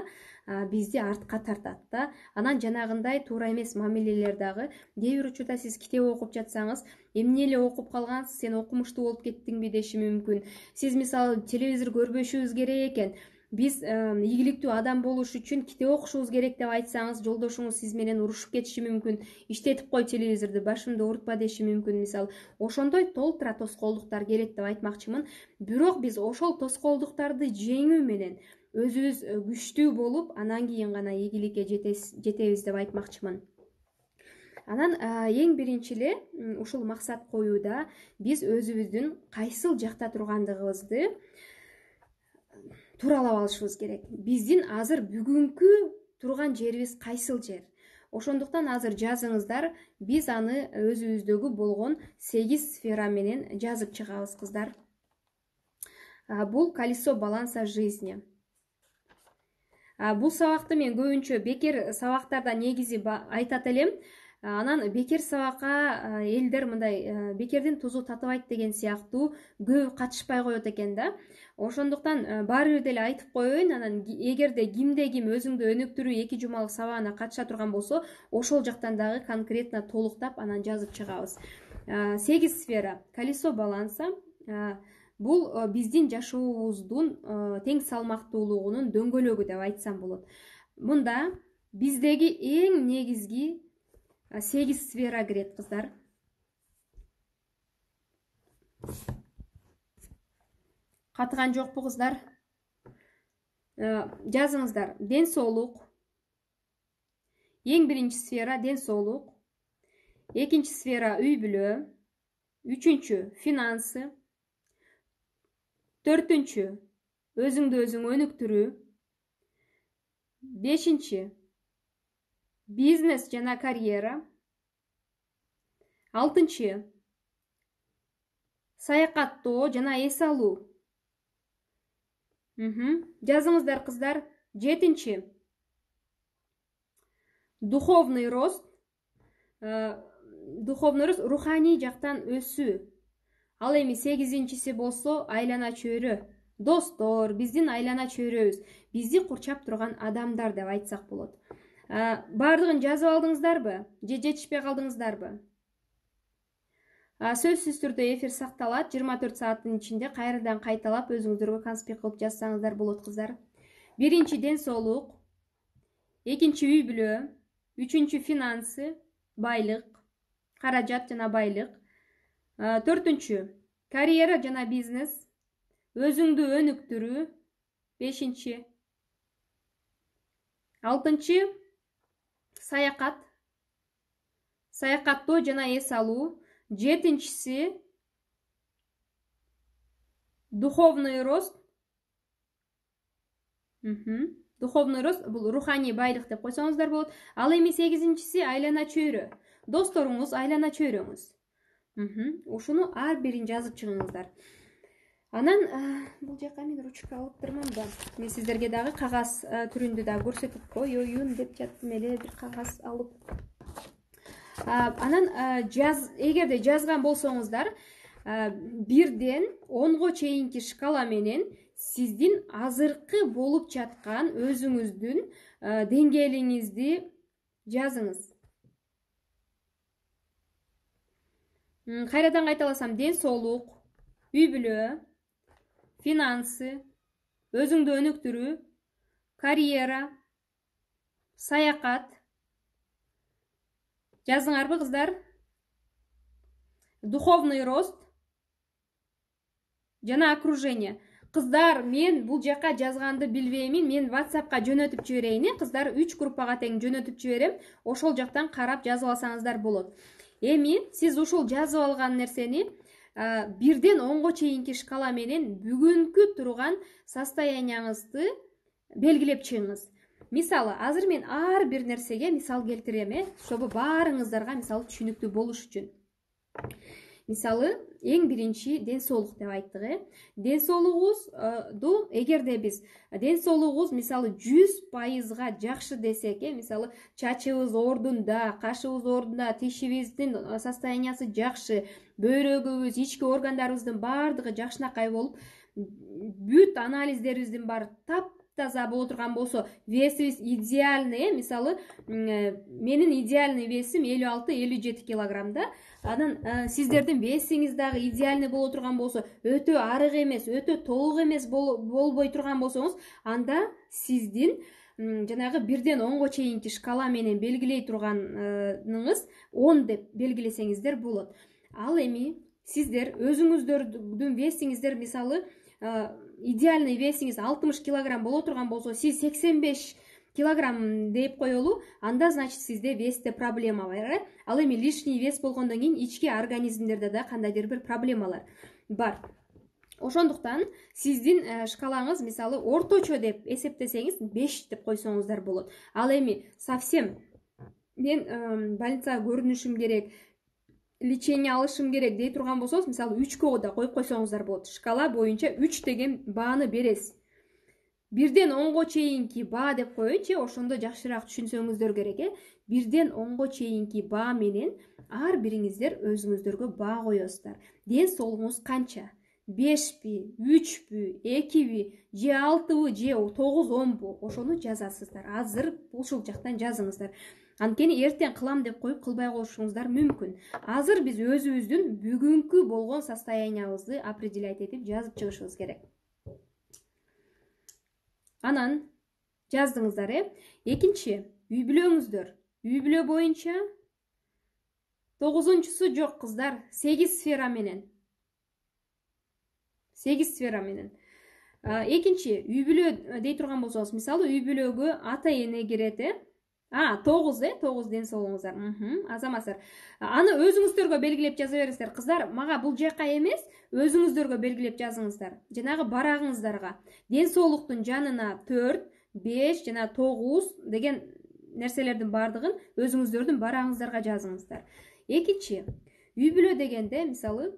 бизди артка тартат да. Анан жанагындай туура эмес мамилелер дагы кээ бир учурда сиз китеп окуп жатсаңыз, эмне эле окуп калгансыз, сен окумуштуу болуп кеттиңби деши мүмкүн. Сиз мисалы телевизор көрбөшүбүз керек экен, биз ийгиликтүү адам болуш үчүн китеп окушубуз керек деп айтсаңыз, жолдошуңуз сиз менен урушуп кетиши мүмкүн. Иштетип кой телевизорду, башымды оорутпа деши мүмкүн, мисалы. Ошондой толтура тоскоолдуктар келет деп айтмакчымын. Бирок биз ошол тоскоолдуктарды жеңүү менен өзүбүз күчтүү болуп, анан кийин гана ийгиликке жетебиз деп айтмакчымын. Анан эң биринчи эле ушул максат коюуда биз өзүбүздүн кайсыл жакта тургандыгыбызды тууралап алышыбыз керек. Биздин азыр бүгүнкү турган жерибиз кайсыл жер? Ошондуктан азыр жазыңыздар, биз аны өзүбүздөгү болгон 8 сфера менен жазып чыгабыз, кыздар. Бул колесо баланса жизни. Бул сабакты мен көбүнчө бекер сабактарда негизи айтат элем. Анан бекер сабакка элдер мындай бекердин тузу татыбайт деген сыяктуу көп катышпай коет экен да. Ошондуктан баары бир деле айтып коеюн. Анан эгерде кимде ким өзүңдү өнүктүрүү 2 жумалык сабагына катыша турган болсо, ошол жактан дагы конкретно толуктап анан жазып чыгабыз. 8 сфера. Колесо баланса бул биздин жашообуздун тең салмактуулугунун дөңгөлөгү деп айтсам болот. Мында биздеги эң негизги 8 сфера кирет, кыздар. Катыган жокпу, кыздар? Жазыңыздар. Ден соолук. Эң биринчи сфера ден соолук. Экинчи сфера үй бүлө. Үчүнчү финансы. Төртүнчү өзүңдү өзүң өнүктүрүү. Бешинчи бизнес жана карьера. Алтынчы саякаттоо жана эс алуу. Жазыңыздар, кыздар. Жетинчи духовный рост. Руханий жактан өсүү. Ал эми 8-инчиси болсо айлана чөйрө. Достор, биздин айлана чөйрөбүз, бизди курчап турган адамдар деп айтсак болот. Бардыгын жазып алдыңыздарбы? Же жетишпей калдыңыздарбы? Сөзсүз түрдө эфир сакталат. 24 сааттын ичинде кайрадан кайталап өзүңүздөргө конспект кылып жазсаңыздар болот кыздар. Биринчи ден соолук, экинчи үй бүлө, үчүнчү финансы, байлык, каражат жана байлык. Төртүнчү карьера жана бизнес, өзүңдү өнүктүрүү. Бешинчи. Алтынчы саякат, саякаттоо жана эс алуу. Жетинчиси духовный рост. Духовный рост бул руханий байлык деп койсоңуздар болот. Ал эми сегизинчиси айлана чөйрө. Досторуңуз, айлана чөйрөңүз. Ушуну ар бирин жазып чыгыңыздар. Анан бул жака мен ручка алыптырмын да. Мен сиздерге дагы кагаз түрүндө да көрсөтүп коеюн деп жаттым эле, бир кагаз алып. Анан эгерде жазган болсоңуздар, 1ден 10го чейинки шкала менен сиздин азыркы болуп жаткан өзүңүздүн деңгээлиңизди жазыңыз. Кайрадан кайталасам: ден соолук, үй бүлө, финансы, өзүңдү өнүктүрүү, карьера, саякат. Жаздыңарбы кыздар? Духовный рост жана окружение. Кыздар, мен бул жака жазганды билбеймин. Мен WhatsAppка жөнөтүп жиберейин, кыздар. 3 группага тең жөнөтүп жиберем. Ошол жактан карап жазып алсаңыздар болот. Эми сиз ушул жазып алган нерсени 1ден 10го чейинки шкала менен бүгүнкү турган состоянияңызды белгилеп чыгыңыз. Мисалы, азыр мен ар бир нерсеге мисал келтирем, чтобы баарыңыздарга мисалы түшүнүктүү болуш үчүн. Мисалы, эң биринчи ден соолук деп айттык. Ден соолугубузду эгерде биз ден соолугубуз мисалы 100% жакшы десек, мисалы чачыбыз ордунда, кашыбыз ордунда, тишибиздин состояниясы жакшы, бөйрөгүбүз, ички органдарыбыздын баардыгы жакшынакай болуп, бүт анализдерибиздин баары таптаза боло турган болсо, весибиз идеальный, мисалы менин идеальный весим 56-57 килограммда. Анан сиздердин весиңиз дагы идеальный боло турган болсо, өтө арык эмес, өтө толук эмес болбой турган болсоңуз, анда сиздин жанагы 1ден 10го чейинки шкала менен белгилей турганыңыз 10 деп белгилесеңиздер болот. Ал эми сиздер өзүңүздөрдүн весиңиздер мисалы идеальный весиңиз 60 килограмм боло турган болсо, сиз 85 килограмм деп коелу, анда значит сизде весте проблема бар. Ал эми лишний вес болгондон кийин ички организмдерде да кандайдыр бир проблемалар бар. Ошондуктан сиздин шкалаңыз мисалы орточо деп эсептесеңиз 5 деп койсоңуздар болот. Ал эми совсем мен больницага көрүнүшүм керек, лечение алышым керек дей турган болсоңуз, мисалы 3кө да коюп койсоңуздар болот. Шкала боюнча 3 деген бааны бересиз. 1ден 10го чейинки баа деп коеюнчу, ошондо жакшыраак түшүнсөңүздөр керек. 1ден 10го чейинки баа менен ар бириңиздер өзүңүздөргө баа коесуздар. Ден соолугуңуз канча? 5пи, 3пү, 2пи, же 6пы, же 9-10пу? Ошону жазасыздар. Азыр ушул жактан жазыңыздар. Анткени эртең кылам деп коюп кылбай коюшуңуздар мүмкүн. Азыр биз өзүбүздүн бүгүнкү болгон состояниябызды определять этип жазып чыгышыбыз керек. Анан жаздыңыздар, Экинчи, үй бүлөңүздөр. Үй бүлө боюнча 9-су жок кыздар, 8 сфера менен. 8 сфера менен. Экинчи, үй бүлө дей турган болсоңуз, мисалы үй бүлөгө ата эне кирет, 9 ден соолугуңуздар. Азаматсыздар. Аны өзүңүздөргө белгилеп жаза бересиздер. Кыздар, мага бул жака эмес, өзүңүздөргө белгилеп жазыңыздар. Жанагы барагыңыздарга. Ден соолуктун жанына 4, 5 жана 9 деген нерселердин баардыгын өзүңүздөрдүн барагыңыздарга жазыңыздар. Экинчи, үй бүлө дегенде, мисалы,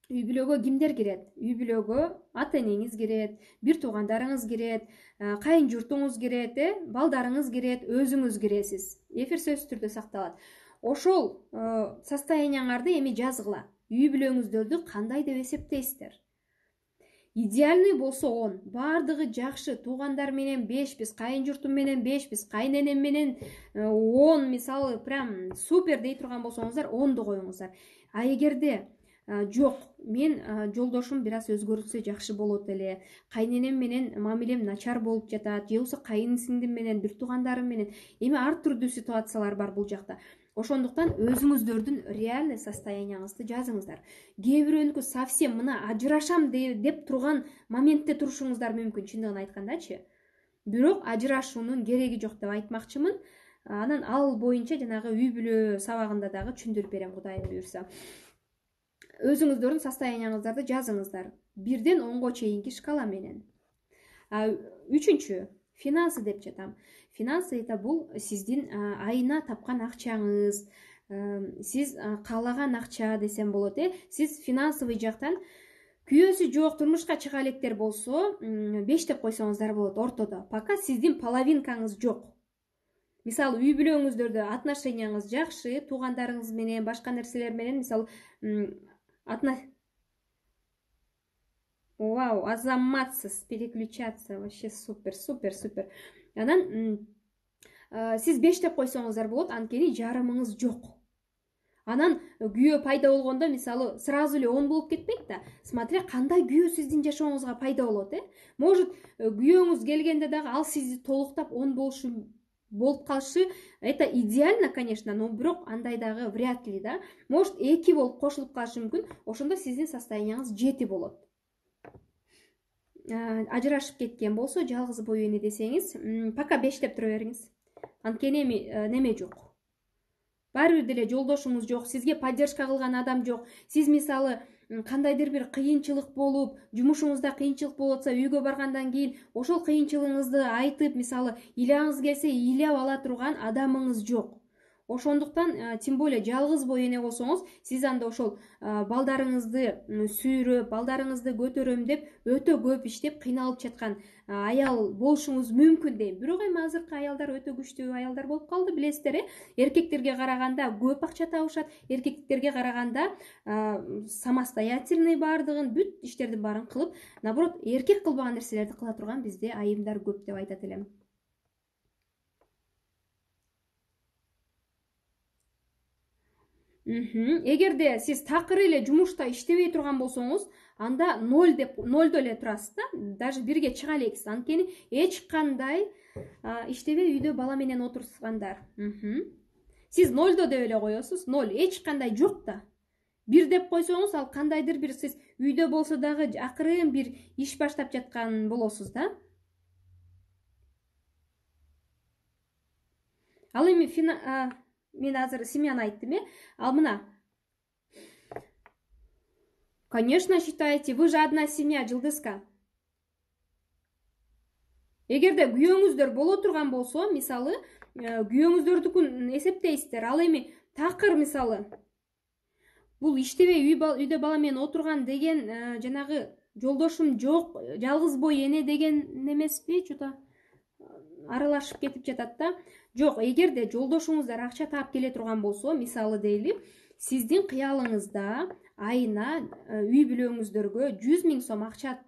үй бүлөгө кимдер кирет? Үй бүлөгө ата энеңиз кирет, бир туугандарыңыз кирет, кайын журтуңуз кирет, балдарыңыз кирет, өзүңүз киресиз. Эфир сөзсүз түрдө сакталат. Ошол состоянияңарды эми жазгыла. Үй бүлөңүздөрдү кандай деп эсептейсиздер? идеальный болсо 10, бардыгы жакшы, туугандар менен 5биз, кайын журтум менен 5биз, кайненем менен 10, мисалы прям супер дей турган болсоңуздар 10ду коюңуздар. А эгерде жок, мен жолдошум бир аз өзгөртсө жакшы болот эле, кайненем менен мамилем начар болуп жатат, же болбосо кайын сиңдим менен, бир туугандарым менен, эми ар түрдүү ситуациялар бар бул жакта. Ошондуктан өзүңүздөрдүн реальный состоянияңызды жазыңыздар. Кээ бирөөнүкү совсем мына ажырашам деп турган моментте турушуңуздар мүмкүн, чындыгын айткандачы. Бирок ажырашуунун кереги жок деп айтмакчымын. Анан ал боюнча жанагы үй бүлө сабагында дагы түшүндүрүп берем, Кудайым буйрса. Өзүңүздөрдүн состоянияңыздарды жазыңыздар. 1ден 10го чейинки шкала менен. Үчүнчү, финансы деп жатам. Финансы это бул сиздин айына тапкан акчаңыз, сиз каалаган акча десем болот, Сиз финансовый жактан күйөөсү жок, турмушка чыга электер болсо 5 деп койсоңуздар болот ортодо. Пока сиздин половинкаңыз жок. Мисалы, үй бүлөңүздөрдө отношенияңыз жакшы, туугандарыңыз менен, башка нерселер менен, мисалы, Вау, азаматсыз, переключаться, вообще супер. Анан сиз 5 деп койсоңуздар болот, анткени жарымыңыз жок. Анан күйөө пайда болгондо, мисалы, сразу эле 10 болуп кетпейт да. Смотря кандай күйөө сиздин жашооңузга пайда болот, Может, күйөөңүз келгенде дагы ал сизди толуктап 10 болуп калышы, это идеально, конечно, но бирок андай дагы вряд ли, да. Может, 2 болуп кошулуп калышы мүмкүн, ошондо сиздин состоянияңыз 7 болот. Ажырашып кеткен болсо, жалгыз бою эне десеңиз, пока 5 деп тура бериңиз. Анткени неме жок. Баары бир деле жолдошуңуз жок, сизге поддержка кылган адам жок. Сиз мисалы кандайдыр бир кыйынчылык болуп, жумушуңузда кыйынчылык болуп атса, үйгө баргандан кийин ошол кыйынчылыгыңызды айтып, мисалы, ыйлаңыз келсе ыйлап ала турган адамыңыз жок. Ошондуктан, тем более жалгыз бой эне болсоңуз, сиз анда ошол балдарыңызды сүйрөп, балдарыңызды көтөрөм деп өтө көп иштеп кыйналып жаткан аял болушуңуз мүмкүн дейм. Бирок эми азыркы аялдар өтө күчтүү аялдар болуп калды, билесиздер, Эркектерге караганда көп акча табышат, эркектерге караганда самостоятельный бардыгын, бүт иштердин баарын кылып, наоборот, эркек кылбаган нерселерди кыла турган бизде айымдар көп деп айтат элем. Эгерде сиз такыр эле жумушта иштебей турган болсоңуз, анда 0 эле турасыз да, даже 1ге чыга элексиз. Анткени эч кандай иштебей үйдө бала менен отургандар. Сиз 0 деп эле коесуз, 0, эч кандай жок да. 1 деп койсоңуз, ал кандайдыр бир сиз үйдө болсо дагы акырын бир иш баштап жаткан болосуз да. Ал эми мен азыр семьяны айттым, Ал мына. Конечно, считаете, вы же одна семья, Жылдызка. Эгерде күйөөңүздөр боло турган болсо, мисалы, күйөөңүздөрдүкүн эсептейсиздер. Ал эми такыр, мисалы, бул иштебей үйдө бала менен отурган деген жанагы жолдошум жок, жалгыз бой эне деген эмеспи, что-то аралашып кетип жатат да. Жок, эгерде жолдошуңуздар акча таап келе турган болсо, мисалы дейли, сиздин кыялыңызда айына үй бүлөңүздөргө 100 000 сом акча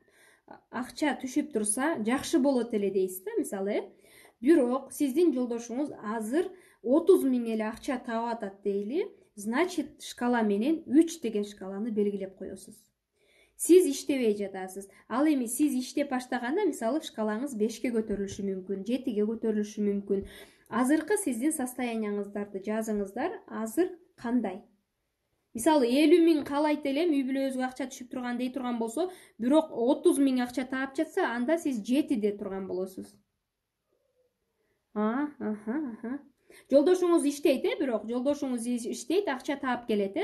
түшүп турса, жакшы болот эле дейсиз да, мисалы. Бирок сиздин жолдошуңуз азыр 30 000 эле акча таап атат дейли, значит, шкала менен 3 деген шкаланы белгилеп коесуз. Сиз иштебей жатасыз. Ал эми сиз иштеп баштаганда, мисалы, шкалаңыз 5ке көтөрүлүшү мүмкүн, 7ге көтөрүлүшү мүмкүн. Азыркы сиздин состоянияңыздарды жазыңыздар. Азыр кандай? Мисалы, 50 000 каалайт элем, үй бүлөбүзгө акча түшүп турган дей турган болсо, бирок 30 000 акча таап жатса, анда сиз 7 деп турган болосуз. Жолдошуңуз иштейт, бирок жолдошуңуз иштейт, акча таап келет,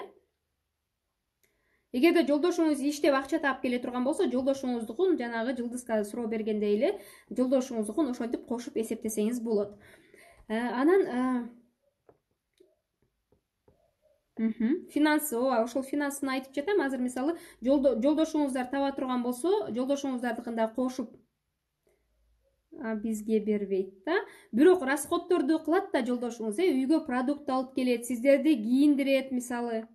Эгерде жолдошуңуз иштеп акча таап келе турган болсо, жолдошуңуздукун жанагы Жылдызга суроо бергендей эле, жолдошуңуздукун ошентип кошуп эсептесеңиз болот. Анан финансы, ошол финансын айтып жатам. Азыр мисалы, жолдошуңуздар таба турган болсо, жолдошуңуздардыкында кошуп бизге бербейт да. Бирок расходторду кылат да жолдошуңуз, үйгө продукт алып келет, сиздерди кийиндирет, мисалы.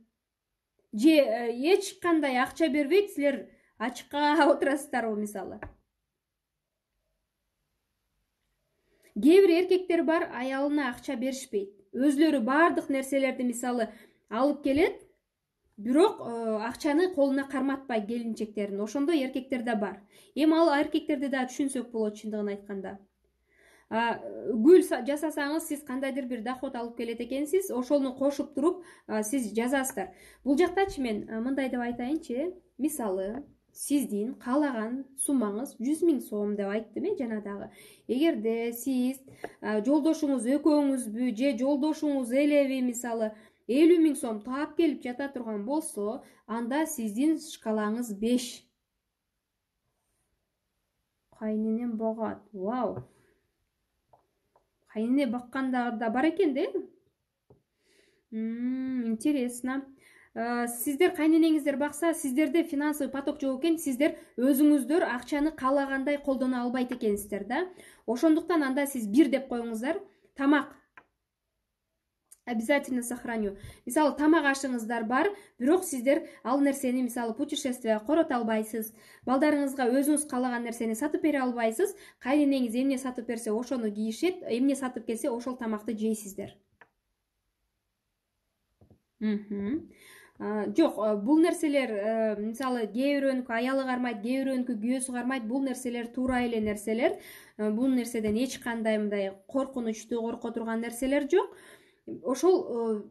Же эч кандай акча бербейт, силер ачыкка отурасыздарбы мисалы? Кээ бир эркектер бар, аялына акча беришпейт. Өзлөрү бардык нерселерди мисалы алып келет, бирок акчаны колуна карматпайт келинчектерин. Ошондой эркектер да бар. Эми ал эркектерди да түшүнсөк болот чындыгын айтканда. Гүл жасасаңыз, сиз кандайдыр бир доход алып келет экенсиз, ошону кошуп туруп сиз жазасыздар. Бул жактачы мен мындай деп айтайынчы, мисалы сиздин каалаган суммаңыз 100 000 сом деп айттым жана дагы. Эгерде сиз жолдошуңуз экөөңүзбү же жолдошуңуз элеби мисалы 50 000 сом таап келип жата турган болсо, анда сиздин шкалаңыз 5. Кайненем богат. Вау. Кайнене баккандар да бар экен да. Интересно. Сиздер кайненеңиздер бакса, сиздерде финансовый поток жок экен, сиздер өзүңүздөр акчаны каалагандай колдоно албайт экенсиздер да. Ошондуктан анда сиз 1 деп коюңуздар. Тамак обязательно сохраню. Мисалы тамак ашыңыздар бар, бирок сиздер ал нерсени мисалы путешествие корото албайсыз. Балдарыңызга өзүңүз каалаган нерсени сатып бере албайсыз. Кайненеңиз эмне сатып берсе, ошону кийишет, эмне сатып келсе, ошол тамакты жейсиздер. Жок, бул нерселер мисалы кээ бирөөнүкү аялы кармайт, кээ бирөөнүкү күйөөсү кармайт. Бул нерселер туура эле нерселер. Бул нерседен эч кандай мындай коркунучтуу, корко турган нерселер жок. Ошол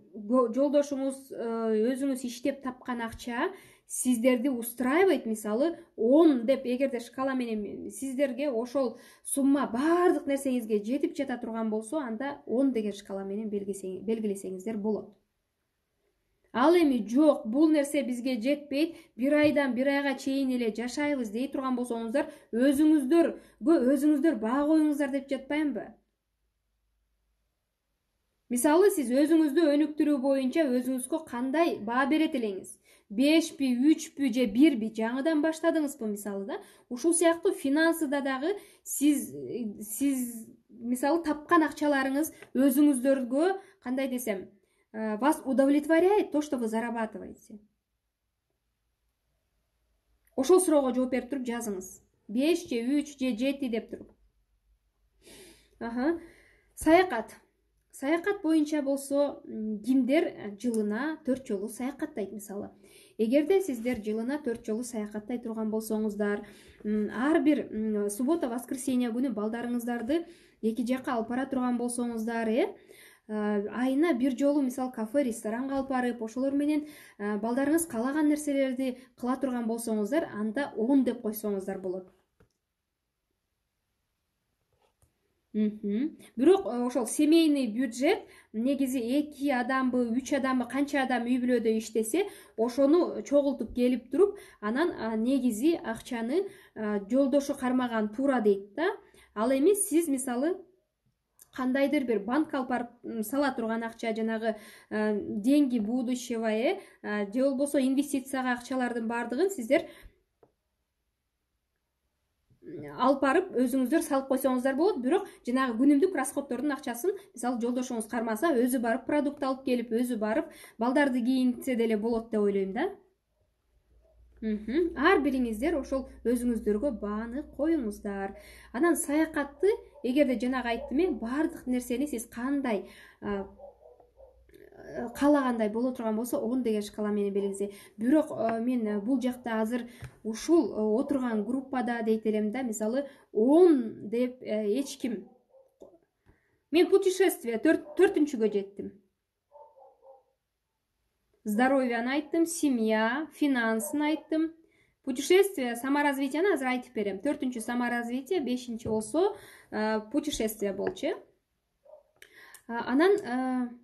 жолдошуңуз өзүңүз иштеп тапкан акча сиздерди устраивайт, мисалы 10 деп, эгерде шкала менен сиздерге ошол сумма бардык нерсеңизге жетип жата турган болсо, анда 10 деген шкала менен белгилесеңиздер болот. Ал эми жок, бул нерсе бизге жетпейт, 1 айдан 1 айга чейин эле жашайбыз дей турган болсоңуздар, өзүңүздөр баа коюңуздар деп жатпаймынбы? Мисалы сиз өзүңүздү өнүктүрүү боюнча өзүңүзгө кандай баа берет элеңиз? 5пи, 3пи же 1пи жаңыдан баштадыңызбы мисалы да? Ушул сыяктуу финансыда дагы сиз мисалы тапкан акчаларыңыз өзүңүздөргө кандай десем, вас удовлетворяет то, что вы зарабатываете? Ошол суроого жооп берип туруп жазыңыз. 5 же 3 же 7 деп туруп. Саякат боюнча болсо, кимдер жылына 4 жолу саякаттайт мисалы. Эгерде сиздер жылына 4 жолу саякаттай турган болсоңуздар, ар бир суббота, воскресенье күнү балдарыңыздарды эки жакка алып бара турган болсоңуздар, айына 1 жолу мисалы кафе, ресторанга алып барып, ошолор менен балдарыңыз каалаган нерселерди кыла турган болсоңуздар, анда 10 деп койсоңуздар болот. Бирок ошол семейный бюджет негизи 2 адамбы, 3 адамбы, канча адам үй бүлөдө иштесе, ошону чогултуп келип туруп, анан негизи акчаны жолдошу кармаган туура дейт да. Ал эми сиз мисалы кандайдыр бир банкка алып барып сала турган акча, жанагы деньги будущего, же болбосо инвестицияга акчалардын бардыгын сиздер алып барып өзүңүздөр салып койсоңуздар болот. Бирок жанагы күнүмдүк расходтордун акчасын мисалы жолдошуңуз кармаса, өзү барып продукт алып келип, өзү барып балдарды кийинтсе деле болот деп ойлойм да. Ар бириңиздер ошол өзүңүздөргө бааны коюңуздар. Анан саякатты, эгерде жанагы айттым, бардык нерсени сиз кандай каалагандай боло турган болсо, 10 деген шкала менен белгилесе. Бирок мен бул жакта азыр ушул отурган группада дейт элем да, мисалы 10 деп эч ким. Мен путешествие 4-чүгө жеттим. Здоровьяны айттым, семья, финансын айттым. Путешествие, саморазвитияны азыр айтып берем. 4-чү саморазвитие, 5-чи болсо путешествие болчу. Анан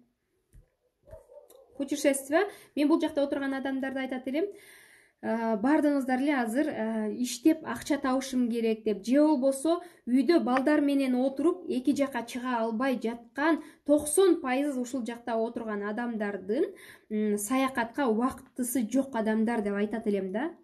путешествие, мен бул жакта отурган адамдарды айтат элем, бардыңыздар эле азыр иштеп акча табышым керек деп, же болбосо үйдө балдар менен отуруп эки жака чыга албай жаткан 90% ушул жакта отурган адамдардын саякатка убактысы жок адамдар деп айтат элем да.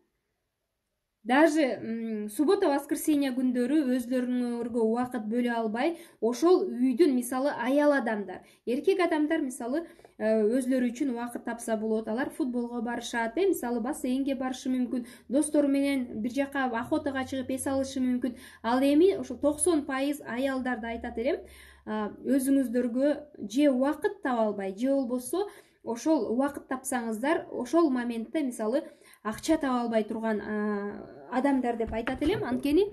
даже суббота воскресенье күндөрү өзлөрүңөргө убакыт бөлө албай ошол үйдүн мисалы аял адамдар, эркек адамдар мисалы өзлөрү үчүн убакыт тапса болот, алар футболго барышат, мисалы бассейнге барышы мүмкүн, достору менен бир жака охотага чыгып эс алышы мүмкүн. Ал эми ошо 90% аялдарды айтат элем, өзүңүздөргө же убакыт таба албай, же болбосо ошол убакыт тапсаңыздар ошол моментте мисалы акча таба албай турган адамдар деп айтат элем. Анткени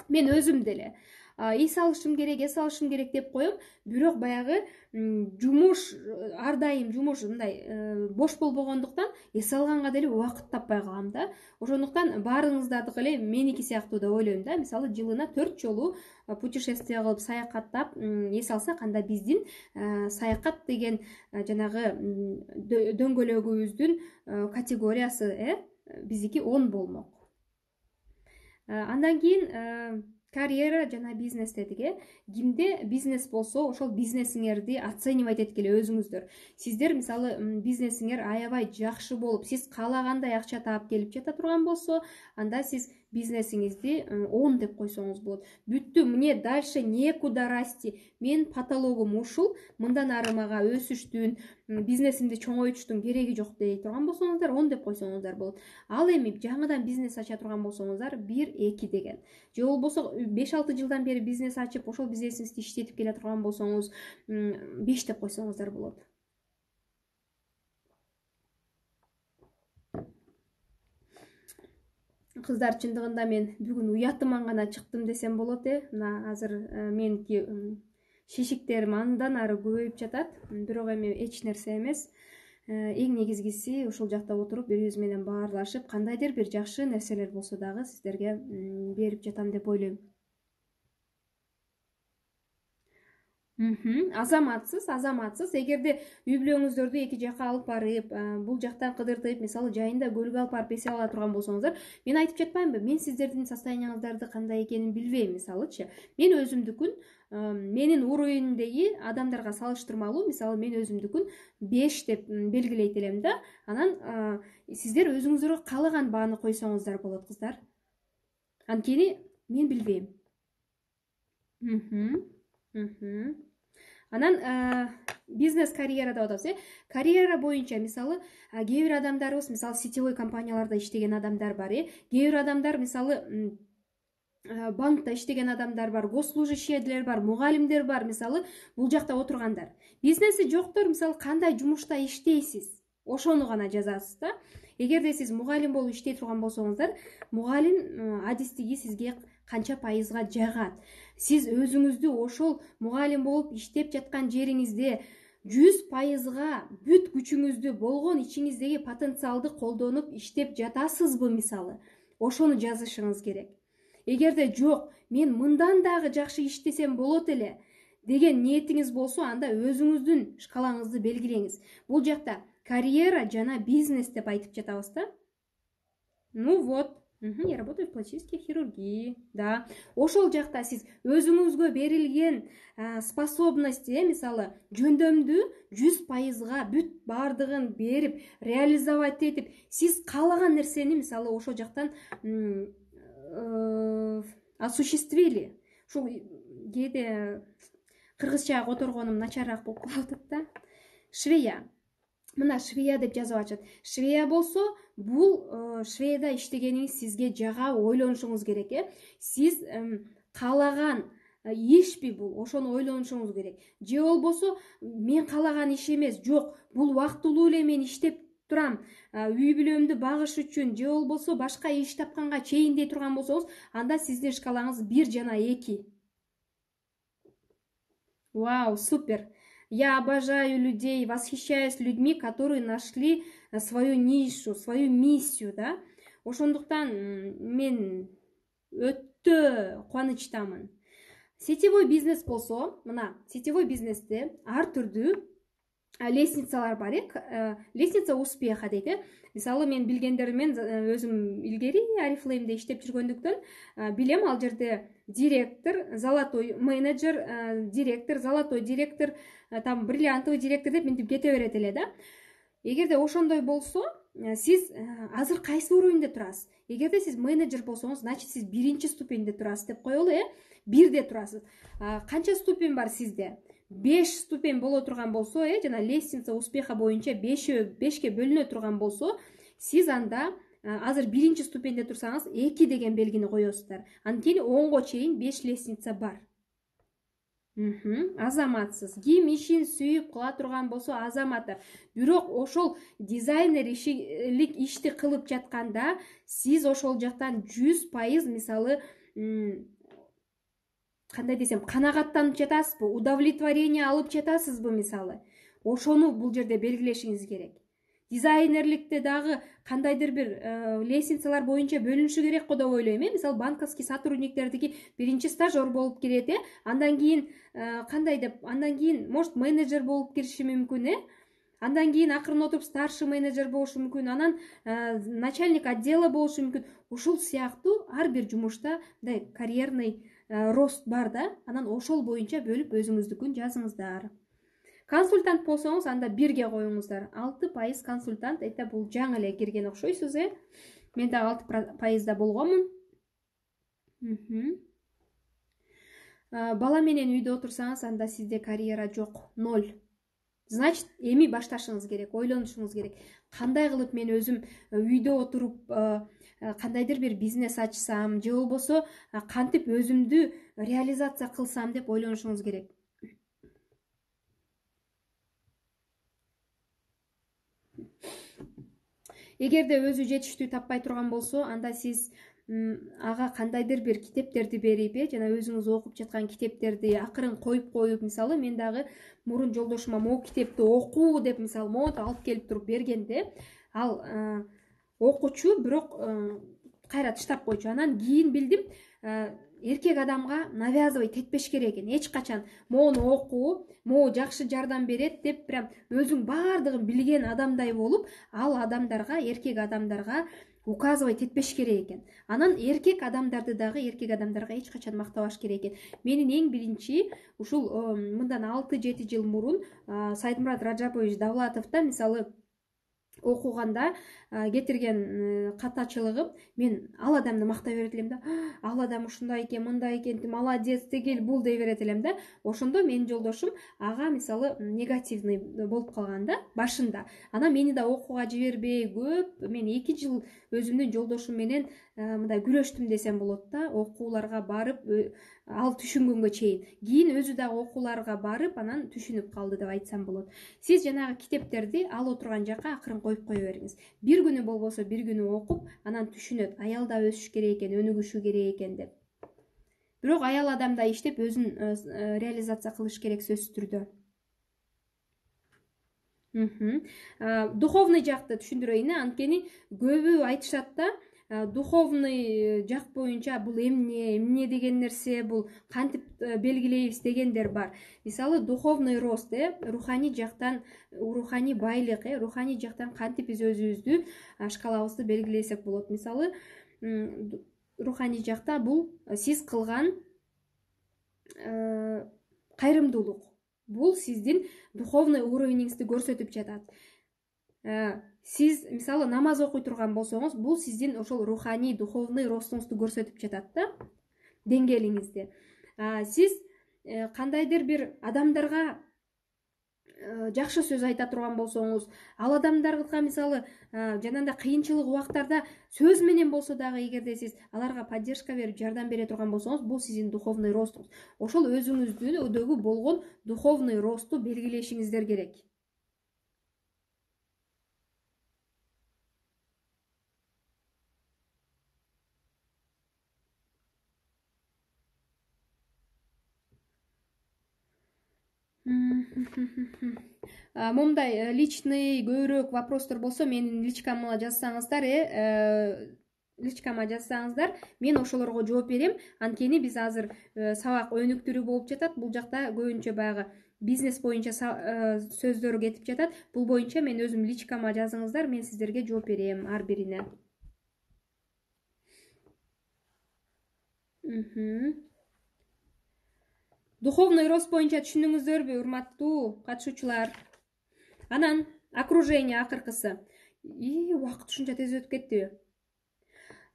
мен өзүм деле эс алышым керек деп коем, бирок баягы жумуш ар дайым жумуш мындай бош болбогондуктан эс алганга деле убакыт таппай калам да. Ошондуктан баарыңыздардыкы эле меники сыяктуу деп ойлойм да. Мисалы жылына 4 жолу путешествие кылып саякаттап эс алсак, анда биздин саякат деген жанагы дөңгөлөгүбүздүн категориясы биздики 10 болмок. Андан кийин карьера жана бизнес дедик. Кимде бизнес болсо ошол бизнесиңерди оценивать эткиле өзүңүздөр. Сиздер мисалы бизнесиңер аябай жакшы болуп, сиз каалагандай акча таап келип жата турган болсо, анда сиз бизнесиңизди 10 деп койсоңуз болот. Бүттү, мне дальше некуда расти. Мен потологум ушул, мындан ары мага өсүштүн, бизнесимди чоңойтуштун кереги жок дей турган болсоңуздар 10 деп койсоңуздар болот. Ал эми жаңыдан бизнес ача турган болсоңуздар 1-2 деген. Же болбосо 5-6 жылдан бери бизнес ачып, ошол бизнесиңизди иштетип келе турган болсоңуз 5 деп койсоңуздар болот. Кыздар, чындыгында мен бүгүн уятыман гана чыктым десем болот. Мына азыр меники шишиктерим андан ары көбөйүп жатат, бирок эми эч нерсе эмес. Эң негизгиси ушул жакта отуруп бири биз менен баарлашып, кандайдыр бир жакшы нерселер болсо дагы сиздерге берип жатам деп ойлойм. Азаматсыз. Эгерде үй бүлөңүздөрдү эки жака алып барып, бул жактан кыдыртып, мисалы жайында көлгө алып барып эс ала турган болсоңуздар, мен айтып жатпаймынбы? Мен сиздердин состоянияңыздарды кандай экенин билбейм, мисалычы. Мен өзүмдүкүн менин уровенімдеги адамдарга салыштырмалуу, мисалы мен өзүмдүкүн 5 деп белгилейт элем да. Анан сиздер өзүңүздөргө каалаган бааны койсоңуздар болот, кыздар. Анткени мен билбейм. Анан бизнес карьера деп атабыз. Карьера боюнча мисалы кээ бир адамдарыбыз мисалы сетевой компанияларда иштеген адамдар бар. Кээ бир адамдар мисалы банкта иштеген адамдар бар, госслужащийлер бар, мугалимдер бар, мисалы бул жакта отургандар. Бизнеси жоктор мисалы кандай жумушта иштейсиз, ошону гана жазасыз да. Эгерде сиз мугалим болуп иштей турган болсоңуздар, мугалим адистиги сизге канча пайызга жагат. Сиз өзүңүздү ошол мугалим болуп иштеп жаткан жериңизде 100%га бүт күчүңүздү, болгон ичиңиздеги потенциалды колдонуп иштеп жатасызбы мисалы? Ошону жазышыңыз керек. Эгерде жок, мен мындан дагы жакшы иштесем болот эле деген ниетиңиз болсо, анда өзүңүздүн шкалаңызды белгилеңиз. Бул жакта карьера жана бизнес деп айтып жатабыз да. Ну вот, я работаю в пластической хирургии, да. Ошол жакта сиз өзүңүзгө берилген способности, мисалы жөндөмдү 100%га бүт бардыгын берип, реализовать этип, сиз каалаган нерсени мисалы ошол жактан осуществили. Ушул кээде кыргызча которгонум начарраак болуп калып атат да. Швея. Мына швея деп жазып атышат. Швея болсо, бул швеяда иштегениңиз сизге жага, ойлонушуңуз керек. Сиз каалаган ишпи бул, ошону ойлонушуңуз керек. Же болбосо, мен каалаган иш эмес, жок, бул убактылуу эле мен иштеп турам, үй бүлөмдү багыш үчүн, же болбосо башка иш тапканга чейин дей турган болсоңуз, анда сиздин шкалаңыз 1 жана 2. Вау, супер! Я обожаю людей, восхищаюсь людьми, которые нашли свою нишу, свою миссию, да? Ошондуктан мен өтө кубанычтамын. Сетевой бизнес болсо, мына сетевой бизнесте ар түрдүү лестницалар бар. Лестница успеха дейт. Мисалы мен билгендериммен өзүм илгери Арифлеймде иштеп жүргөндүктөн билем, ал жерде директор, золотой менеджер, директор, золотой директор, там бриллиантовый директор деп мынтип кете берет эле да. эгерде ошондой болсо, сиз азыр кайсы уровеньде турасыз? Эгерде сиз менеджер болсоңуз, значит сиз 1-ступеньде турасыз деп коелу, 1де турасыз. Канча ступень бар сизде? 5 ступень боло турган болсо, жана лестница успеха боюнча 5ке бөлүнө турган болсо, сиз анда азыр 1-ступеньде турсаңыз 2 деген белгини коесуздар. Анткени оңго чейин 5 лестница бар. Азаматсыз. Ким ишин сүйүп кыла турган болсо азаматтар. Бирок ошол дизайнер ишти кылып жатканда, сиз ошол жактан 100% мисалы кандай десем, канагаттанып жатасызбы, удовлетворение алып жатасызбы мисалы. Ошону бул жерде белгилешиңиз керек. Дизайнерликте дагы кандайдыр бир лестницалар боюнча бөлүнүшү керек го деп ойлойм. Мисалы банковский сотрудниктердики 1-стажер болуп кирет, андан кийин кандай деп, андан кийин может менеджер болуп кириши мүмкүн, андан кийин акырын отуруп старший менеджер болушу мүмкүн, анан начальник отдела болушу мүмкүн. Ушул сыяктуу ар бир жумушта мындай карьерный рост бар да, анан ошол боюнча бөлүп өзүңүздүкүн жазыңыздар. Консультант болсоңуз, анда 1ге коюңуздар. 6% консультант, это бул жаңы эле кирген окшойсуз, Мен дагы 6%да болгонмун. Бала менен үйдө отурсаңыз, анда сизде карьера жок, 0. Значит, эми башташыңыз керек, ойлонушуңуз керек. Кандай кылып мен өзүм үйдө отуруп кандайдыр бир бизнес ачсам, же болбосо кантип өзүмдү реализация кылсам деп ойлонушуңуз керек. Эгерде өзү жетиштүү таппай турган болсо, анда сиз ага кандайдыр бир китептерди берип, жана өзүңүз окуп жаткан китептерди акырын коюп, мисалы мен дагы мурун жолдошума могу китепти окуу деп мисалы монтип алып келип туруп бергенде, ал окучу, бирок кайра таштап койчу. Анан кийин билдим, эркек адамга навязывать этпеш керек экен. Эч качан моуну окуу, могу жакшы жардам берет деп прям өзүң бардыгын билген адамдай болуп, ал адамдарга, эркек адамдарга указывать этпеш керек экен. Анан эркек адамдарды дагы эркек адамдарга эч качан мактабаш керек экен. Менин эң биринчи ушул мындан 6-7 жыл мурун Сайдмурат Раджапович Давлатовдо мисалы окуганда кетирген катачылыгым, мен ал адамды мактай берет элем да, ал адам ушундай экен, мындай экен, молодец, тигил бул дей берет элем да. Ошондо менин жолдошум ага мисалы негативный болуп калган да башында. Анан мени да окууга жибербей көп, мен 2 жыл өзүмдүн жолдошум менен мындай күрөштүм десем болот да, окууларга барып, ал түшүнгөнгө чейин. Кийин өзү дагы окууларга барып, анан түшүнүп калды деп айтсам болот. Сиз жанагы китептерди ал отурган жакка акырын коюп кое бериңиз. Бир күнү болбосо бир күнү окуп, анан түшүнөт. Аял да өсүш керек экен, өнүгүшү керек экен деп. Бирок аял адамдай иштеп өзүн реализация кылыш керек сөзсүз түрдө. Духовный жакты түшүндүрөйүн, анткени көбү айтышат да, духовный жак боюнча бул эмне деген нерсе, бул кантип белгилейбиз дегендер бар. Мисалы духовный рост, руханий жактан, руханий байлык, руханий жактан кантип биз өзүбүздү шкалабызды белгилесек болот. Мисалы руханий жакта бул сиз кылган кайрымдуулук. Бул сиздин духовный уровениңизди көрсөтүп жатат. Сиз мисалы намаз окуй турган болсоңуз, бул сиздин ошол руханий, духовный ростуңузду көрсөтүп жатат да, деңгээлиңизди. Сиз кандайдыр бир адамдарга жакшы сөз айта турган болсоңуз, ал адамдарга мисалы жанагындай кыйынчылык убактарда сөз менен болсо дагы эгерде сиз аларга поддержка берип, жардам бере турган болсоңуз, бул сиздин духовный ростуңуз. Ошол өзүңүздөгү болгон духовный росту белгилешиңиздер керек. Момундай личный көбүрөөк вопростор болсо, менин личкама жазсаңыздар, личкама жазсаңыздар, мен ошолорго жооп берем. Анткени биз азыр сабак өнүктүрүү болуп жатат. Бул жакта көбүнчө баягы бизнес боюнча сөздөр кетип жатат. Бул боюнча мен өзүм личкама жазыңыздар, мен сиздерге жооп берем ар бирине. Духовный рост боюнча түшүндүңүздөрбү, урматтуу катышуучулар? Анан окружение акыркысы. Убакыт ушунча тез өтүп кеттиби?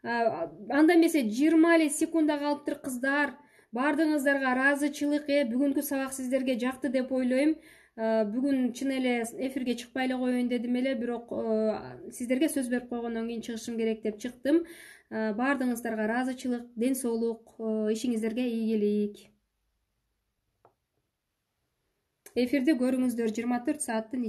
Анда эмесе 20 эле секунда калыптыр кыздар. Бардыгыңыздарга ыраазычылык. Бүгүнкү сабак сиздерге жакты деп ойлойм. Бүгүн чын эле эфирге чыкпай эле коеюн дедим эле, бирок сиздерге сөз берип койгондон кийин чыгышым керек деп чыктым. Бардыгыңыздарга ыраазычылык, ден соолук, ишиңиздерге ийгилик. Эфирди көрүңүздөр 24 сааттын